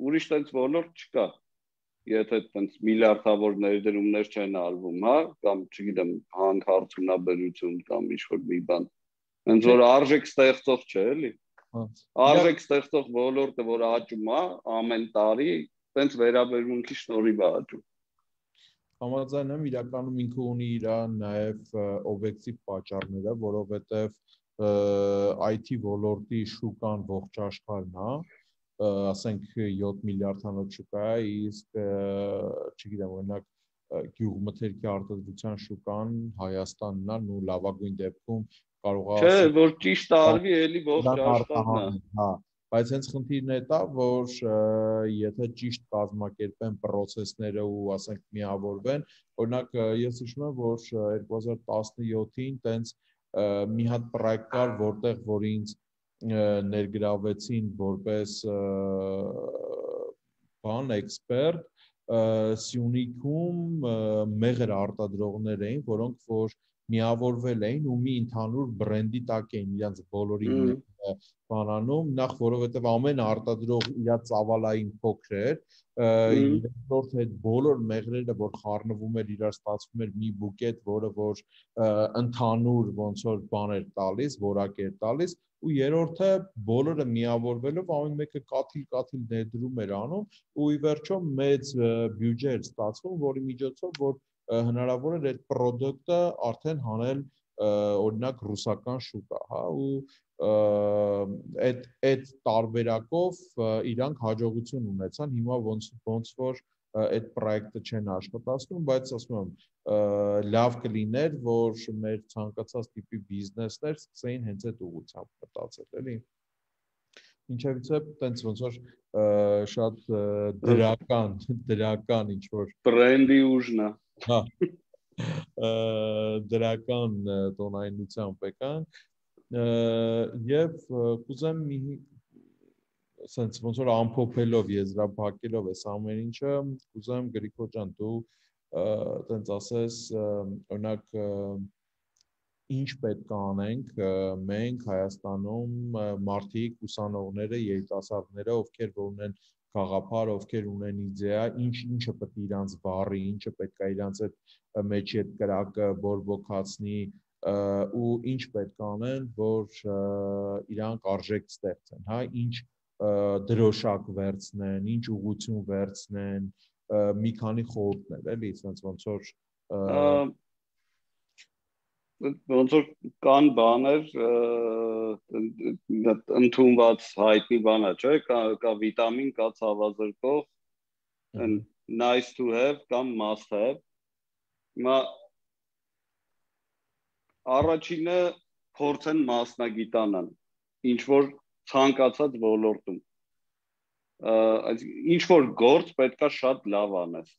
ուրիշ տենց ոլորտ չկա։ Եթե տենց միլիարդավոր ներդրումներ չեն արվում, հա, կամ չգիտեմ, հանքարդյունաբերություն կամ ինչ-որ մի բան։ Հենց որ արժեք ստեղծող չէ, էլի։ Արժեք ստեղծող ոլորտը, որ աճում է ամեն տարի, տենց վերաբերմունքի շնորհիվ է աճում։ Համաձայն եմ, իրականում ինքը ունի իր նաև օբյեկտիվ պատճառները, որովհետև I T ոլորտի շուկան ողջ աշխարհն է, ասենք յոթ միլիարդանոց շուկա է, իսկ չգիտեմ, օրինակ գյուղմթերքի արտադրության շուկան Հայաստանն է, ու լավագույն դեպքում կարող է Չէ, որ ճիշտ արվի, էլի ողջ աշխարհն է։ Հա, բայց հենց խնդիրն է դա, որ եթե ճիշտ կազմակերպեն process-ները ու ասենք միավորվեն, օրինակ ես հիշում եմ, որ երկու հազար տասնյոթին տենց մի հատ պրոյեկտ կար, որտեղ որ ինձ ներգրավեցին որպես բան էքսպերտ, Սյունիքում մեղր արտադրողներ էին, որոնք որ միավորվել էին ու մի ընդհանուր բրենդի տակ էին իրենց բոլորի բանանում, նախ որովհետև ամեն արտադրող իր ծավալային փոքր էր, երկրորդ այդ բոլոր մեղրերը, որ խառնվում էր, իրար ստացվում էր մի բուկետ, որը որ ընդհանուր ոնց որ բան էր տալիս, որակ էր տալիս, ու երրորդը բոլորը միավորվելով ամեն մեկը կաթիլ-կաթիլ ներդրում էր անում, ու ի վերջո մեծ բյուջե էր ստացվում, որի միջոցով որ հնարավոր էր այդ պրոդուկտը արդեն հանել օրինակ ռուսական շուկա, հա, ու այդ այդ տարբերակով իրանք հաջողություն ունեցան, հիմա ոնց ոնց որ այդ պրոյեկտը չեն աշխատացնում, բայց ասում եմ, լավ կլիներ, որ մեր ցանկացած տիպի բիզնեսներ սկսեին հենց այդ ուղղությամբ մտածել, էլի։ Ինչևիցե, տենց ոնց որ շատ դրական, դրական ինչ որ բրենդի ուժն է։ Հա։ Դրական տոնայնությամբ եկանք եւ կուզեմ մի sense ոնց որ ամփոփելով եզրափակելով այս ամեն ինչը կուզեմ Գրիգոր ջան դու տենց ասես օրինակ ինչ պետք է անենք մենք Հայաստանում մարդիկ ուսանողները երիտասարդները ովքեր որ ունեն գաղափար ովքեր ունեն իդեա ինչ ինչը պետք է իրանց վառի ինչը պետք է իրանց այդ մեջի այդ կրակը բորբոքացնի ու ինչ պետք է անեն որ իրանք արժեք ստեղծեն հա ինչ դրոշակ վերցնեն, ինչ ուղղություն վերցնեն, մի քանի խորհուրդներ, էլի, sense ոնց որ ոնց որ կան բաներ ընդունված հայտնի բան է, չէ՞, կա կա վիտամին, կա ցավազրկող, nice to have կամ must have։ Հիմա առաջինը փորձեն մասնագիտանան, ինչ որ ցանկացած ոլորտում ինչ որ գործ պետքա շատ լավ անես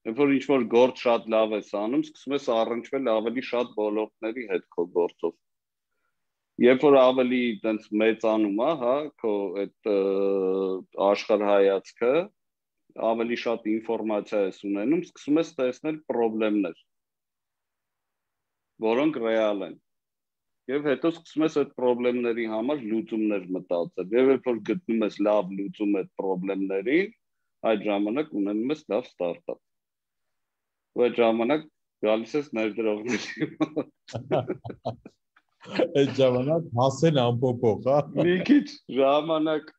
երբ որ ինչ որ գործ շատ լավ ես անում սկսում ես առնչվել ավելի շատ ոլորտների հետ քո գործով երբ որ ավելի այտենց մեծանում է հա քո այդ աշխարհայացքը ավելի շատ ինֆորմացիա ես ունենում սկսում ես տեսնել խնդիրներ որոնք ռեալ են Եվ հետո սկսում ես այդ խնդիրների համար լուծումներ մտածել։ Եվ երբ որ գտնում ես լավ լուծում այդ խնդիրների, այդ ժամանակ ունենում ես լավ ստարտափ։ Ու այդ ժամանակ գալիս ես ներդրողների մոտ։ Այդ ժամանակ հասել ամփոփող, հա։ Մի քիչ ժամանակ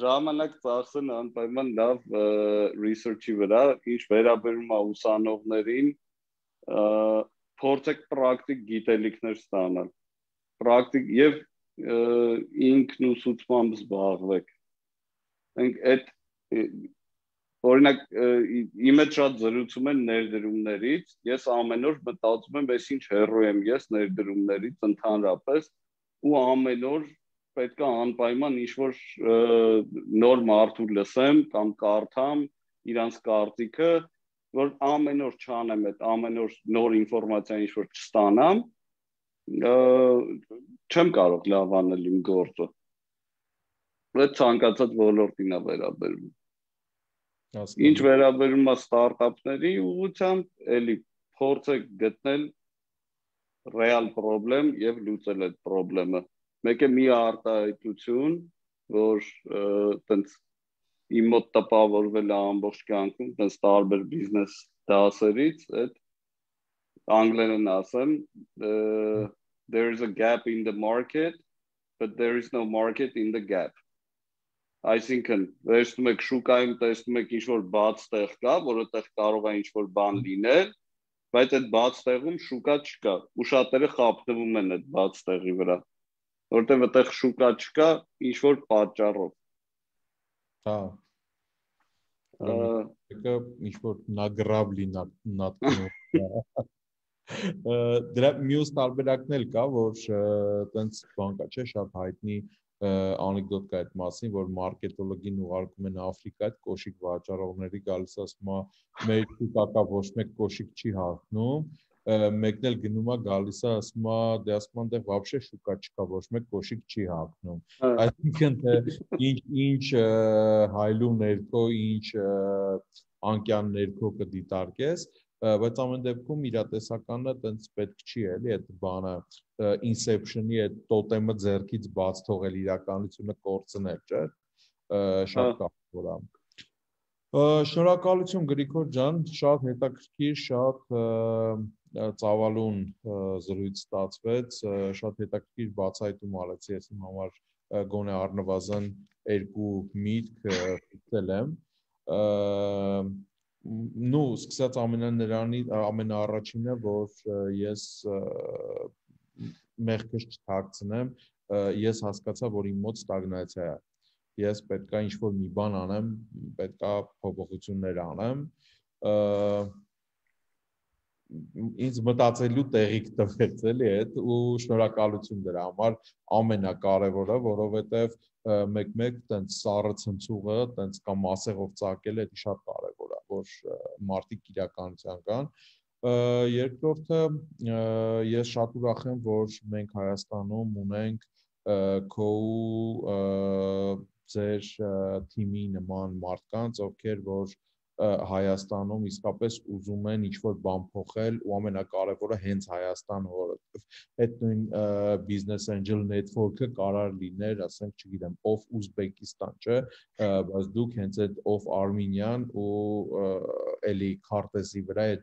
ժամանակ ծախսեն անպայման լավ research-ի վրա, ինչ վերաբերում է ուսանողներին, փորձեք պրակտիկ գիտելիքներ ստանալ։ Պրակտիկ եւ ինքնուսուցմամբ զբաղվեք։ Մենք այդ օրինակ իմ հետ շատ զրուցում են ներդրումներից, ես ամեն օր մտածում եմ, ես ինչ հեռու եմ ես ներդրումներից ընդհանրապես ու ամեն օր պետք է անպայման ինչ-որ նոր մարդու լսեմ կամ կարդամ իրանց կարծիքը, որ ամեն օր չանեմ այդ ամեն օր նոր ինֆորմացիա ինչ-որ չստանամ չեմ կարող լավ անել իմ գործը։ Այդ ցանկացած ոլորտին է վերաբերվում։ Ինչ վերաբերում է ստարտափների ուղղությամբ, էլի փորձեք գտնել ռեալ խնդրեմ եւ լուծել այդ խնդրեմը։ Մեկ է մի արտահայտություն, որ տենց իմ մոտ տպավորվել է ամբողջ կյանքում, տենց տարբեր բիզնես դասերից, այդ անգլերեն ասեմ, there is a gap in the market, but there is no market in the gap. Այսինքն, վերցնում եք շուկայում, տեսնում եք ինչ-որ բաց տեղ կա, որովհետև կարող է ինչ-որ բան լինել, բայց այդ բաց տեղում շուկա չկա, ու շատերը խաբվում են այդ բաց տեղի վրա, որովհետև այդտեղ շուկա չկա, ինչ-որ պատճառով։ Հա։ Եկա ինչ-որ նագրավլի նատկնում։ Դրա մյուս տարբերակն էլ կա, որ տենց բան կա, չէ, շատ հայտնի անեկդոտ կա այդ մասին, որ մարքետոլոգին ուղարկում են Աֆրիկա այդ կոշիկ վաճառողների գալիս ասում է մեր շուկա ոչ մեկ կոշիկ չի հաղթնում, մեկն էլ գնում է գալիս է ասում է դե ասում են դեռ вообще շուկա չկա, ոչ մեկ կոշիկ չի հաղթնում։ Այսինքն թե ինչ ինչ հայլու ներքո ինչ անկյան ներքո կդիտարկես, բայց ամեն դեպքում իրատեսականը տենց պետք չի էլի այդ բանը Inception-ի այդ տոտեմը ձեռքից բաց թողել իրականությունը կորցնել, չէ՞։ Շատ կարևոր է։ Շնորհակալություն Գրիգոր ջան, շատ հետաքրքիր, շատ ծավալուն զրույց ստացվեց, շատ հետաքրքիր բացահայտում արեցի, ես իմ համար գոնե առնվազն երկու միտք ստել եմ։ Նու սկսած ամենաներանի ամենաառաջինը, որ ես մեղքս չթաքցնեմ, ես հասկացա, որ իմ մոտ ստագնացիա է։ Ես պետքա ինչ-որ մի բան անեմ, պետքա փոփոխություններ անեմ։ Ինձ մտածելու տեղիք տվեց էլի այդ ու շնորհակալություն դրա համար ամենակարևորը, որովհետև մեկ-մեկ տենց սառը ցնցուղը, տենց կամ մասեղով ծակելը դա շատ կարևոր է, որ մարդիկ իրականության կան։ Երկրորդը ես շատ ուրախ եմ, որ մենք Հայաստանում ունենք քո ձեր թիմի նման մարդկանց, ովքեր որ Հայաստանում իսկապես ուզում են ինչ-որ բան փոխել ու ամենակարևորը հենց Հայաստան, որովհետև այդ նույն business angel network-ը կարող լիներ, ասենք, չգիտեմ, of Uzbekistan, չէ, բայց դուք հենց այդ of Armenian ու էլի քարտեզի վրա այդ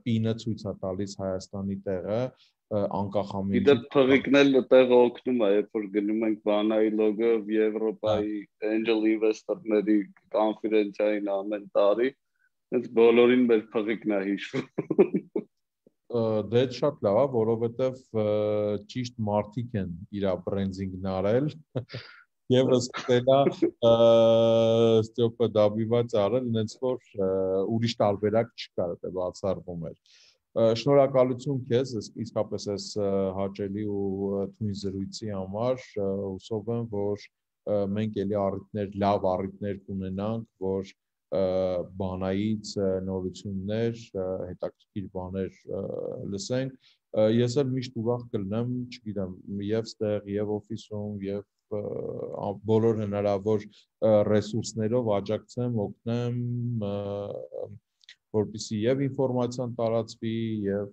պինը ցույց է տալիս Հայաստանի տեղը անկախ ամենից։ Իդեպ փղիկն էլ տեղը օգնում է, երբ որ գնում ենք Վանայի լոգը Եվրոպայի angel investor-ների կոնֆերենցիային ամեն տարի, հենց բոլորին մեր փղիկն է հիշվում։ Դե շատ լավ է, որովհետև ճիշտ մարդիկ են իր բրենդինգն արել եւ սկսելա ստոպը դաբիված արել, ինձ որ ուրիշ տարբերակ չկար, դա բացառվում էր։ Շնորհակալություն քեզ, իսկապես այս հաճելի ու թույն զրույցի համար, հուսով եմ, որ մենք էլի առիթներ, լավ առիթներ կունենանք, որ բանայից նորություններ, հետաքրքիր բաներ լսենք։ Ես էլ միշտ ուրախ կլինեմ, չգիտեմ, եւ ստեղ, եւ օֆիսում, եւ բոլոր հնարավոր ռեսուրսներով աջակցեմ, օգնեմ, որպեսզի եւ ինֆորմացիան տարածվի եւ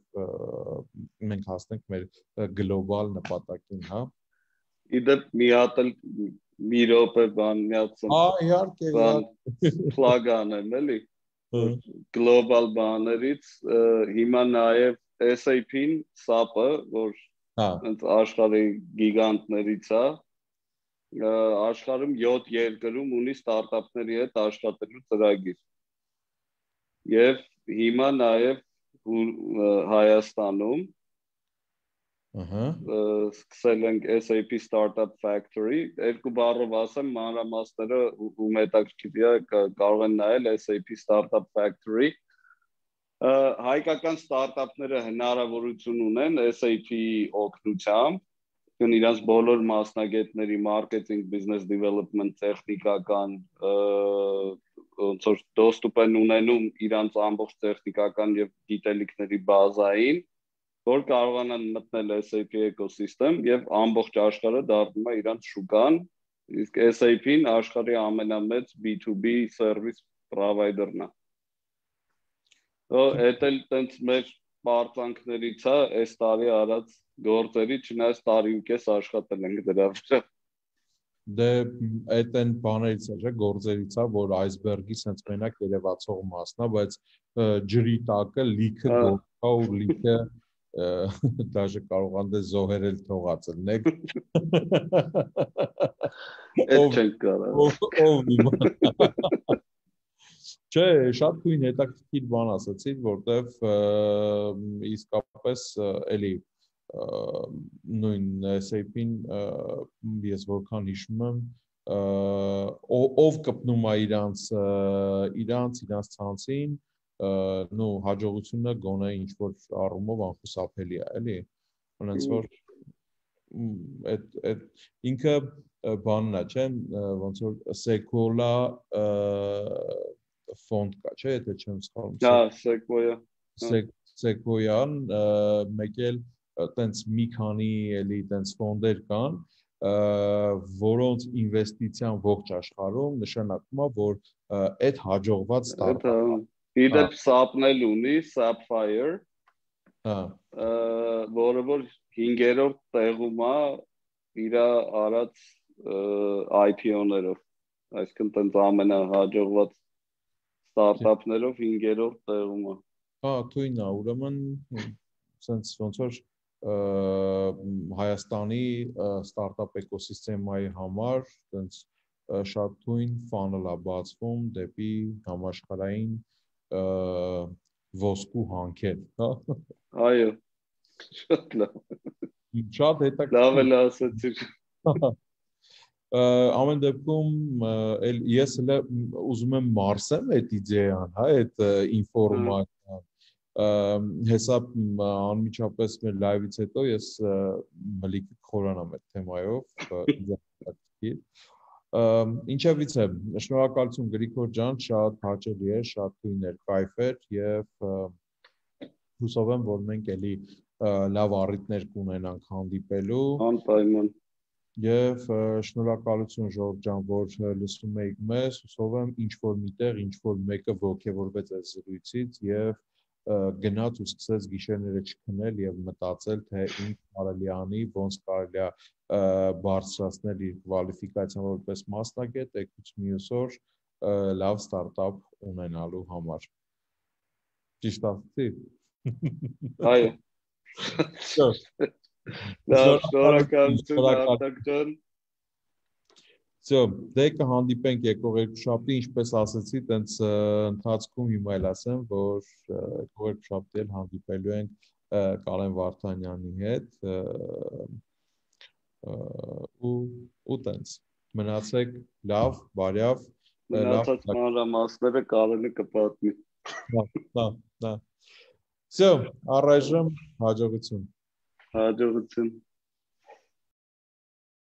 մենք հասնենք մեր գլոբալ նպատակին, հա։ Իդեպ մի հատ էլ մի րոպե բան միացում։ Հա, իհարկե, իհարկե։ Plug անեմ, էլի։ Գլոբալ բաներից հիմա նաեւ S A P-ն, S A P-ը, որ հենց աշխարհի գիգանտներից է, աշխարհում յոթ երկրում ունի ստարտափների հետ աշխատելու ծրագիր։ Եվ հիմա նաև Հայաստանում սկսել ենք S A P Startup Factory, երկու բառով ասեմ, մանրամասները ում հետաքրքիր է կարող են նայել S A P Startup Factory։ Հայկական ստարտափները հնարավորություն ունեն S A P-ի օգնությամբ, իրենց բոլոր մասնագետների մարքեթինգ, բիզնես դիվելոպմենտ, տեխնիկական ոնց որ դոստուպ են ունենում իրենց ամբողջ տեխնիկական եւ գիտելիքների բազային, որ կարողանան մտնել S A P էկոսիստեմ եւ ամբողջ աշխարհը դառնում է իրենց շուկան, իսկ S A P-ն աշխարհի ամենամեծ B two B service provider-ն է։ Այդ էլ տենց մեր պարծանքներից է այս տարի արած գործերի, չնայած տարի ու կես աշխատել ենք դրա վրա։ Դե այդ այն բաներից է, չէ, գործերից է, որ այսբերգի sense մենակ երևացող մասն է, բայց ջրի տակը լիքը գործա ու լիքը դաժե կարողան դե զոհերել թողած լինեք։ Այդ չենք կարող։ Ով իմանա։ Չէ, շատ քույն հետաքրքիր բան ասացիր, որտեվ իսկապես էլի նույն S A P-ն ես որքան հիշում եմ, ով կպնում է իրանց իրանց իրանց ցանցին, նո հաջողությունը գոնե ինչ որ առումով անխուսափելի է, էլի։ Ոնց որ այդ այդ ինքը բանն է, չէ, ոնց որ Sequoia ֆոնդ կա, չէ, եթե չեմ սխալվում։ Հա, Sequoia։ Sequoia-ն մեկ էլ տենց մի քանի էլի տենց ֆոնդեր կան, որոնց ինվեստիցիան ողջ աշխարհում նշանակում է, որ այդ հաջողված ստարտափը իդեպ սապն էլ ունի, Sapphire, հա, որը որ հինգերորդ տեղում է իր արած I P O-ներով, այսինքն տենց ամենահաջողված ստարտափներով հինգերորդ տեղում է։ Հա, թույն է, ուրեմն sense ոնց որ Հայաստանի ստարտափ էկոսիստեմայի համար sense շատ թույն funnel է բացվում դեպի համաշխարհային ոսկու հանքեր, հա։ Այո։ Շատ լավ։ Շատ հետաքրքիր։ Լավ էլ ասացիր։ Ամեն դեպքում ես էլ ուզում եմ մարսեմ այդ իդեան, հա, այդ ինֆորմացիան։ Հեսա անմիջապես մեր լայվից հետո ես մլիք խորանամ այդ թեմայով։ Ինչևից է, շնորհակալություն Գրիգոր ջան, շատ հաճելի էր, շատ թույն էր, կայֆ էր եւ հուսով եմ, որ մենք էլի լավ առիթներ կունենանք հանդիպելու։ Անպայման։ Եվ շնորհակալություն Ժորժ ջան, որ լսում եք մեզ, հուսով եմ ինչ որ միտեղ, ինչ որ մեկը ողջևորվեց այս զրույցից եւ գնաց ու սկսեց գիշերները չքնել եւ մտածել, թե ինչ կարելի անի, ոնց կարելի է բարձրացնել իր կվալիֆիկացիան որպես մասնագետ, եկուց մյուս օր լավ ստարտափ ունենալու համար։ Ճիշտ ասացի։ Այո։ Շնորհակալություն Արտակ ջան։ Всё, դե կհանդիպենք եկող երկուշաբթի, ինչպես ասացի, տենց ընթացքում հիմա էլ ասեմ, որ եկող երկուշաբթի էլ հանդիպելու ենք Կարեն Վարդանյանի հետ ու ու տենց մնացեք լավ, բարյավ, մնացած մանրամասները Կարենը կպատմի։ Հա, հա։ Всё, առայժմ հաջողություն։ Հաջողություն։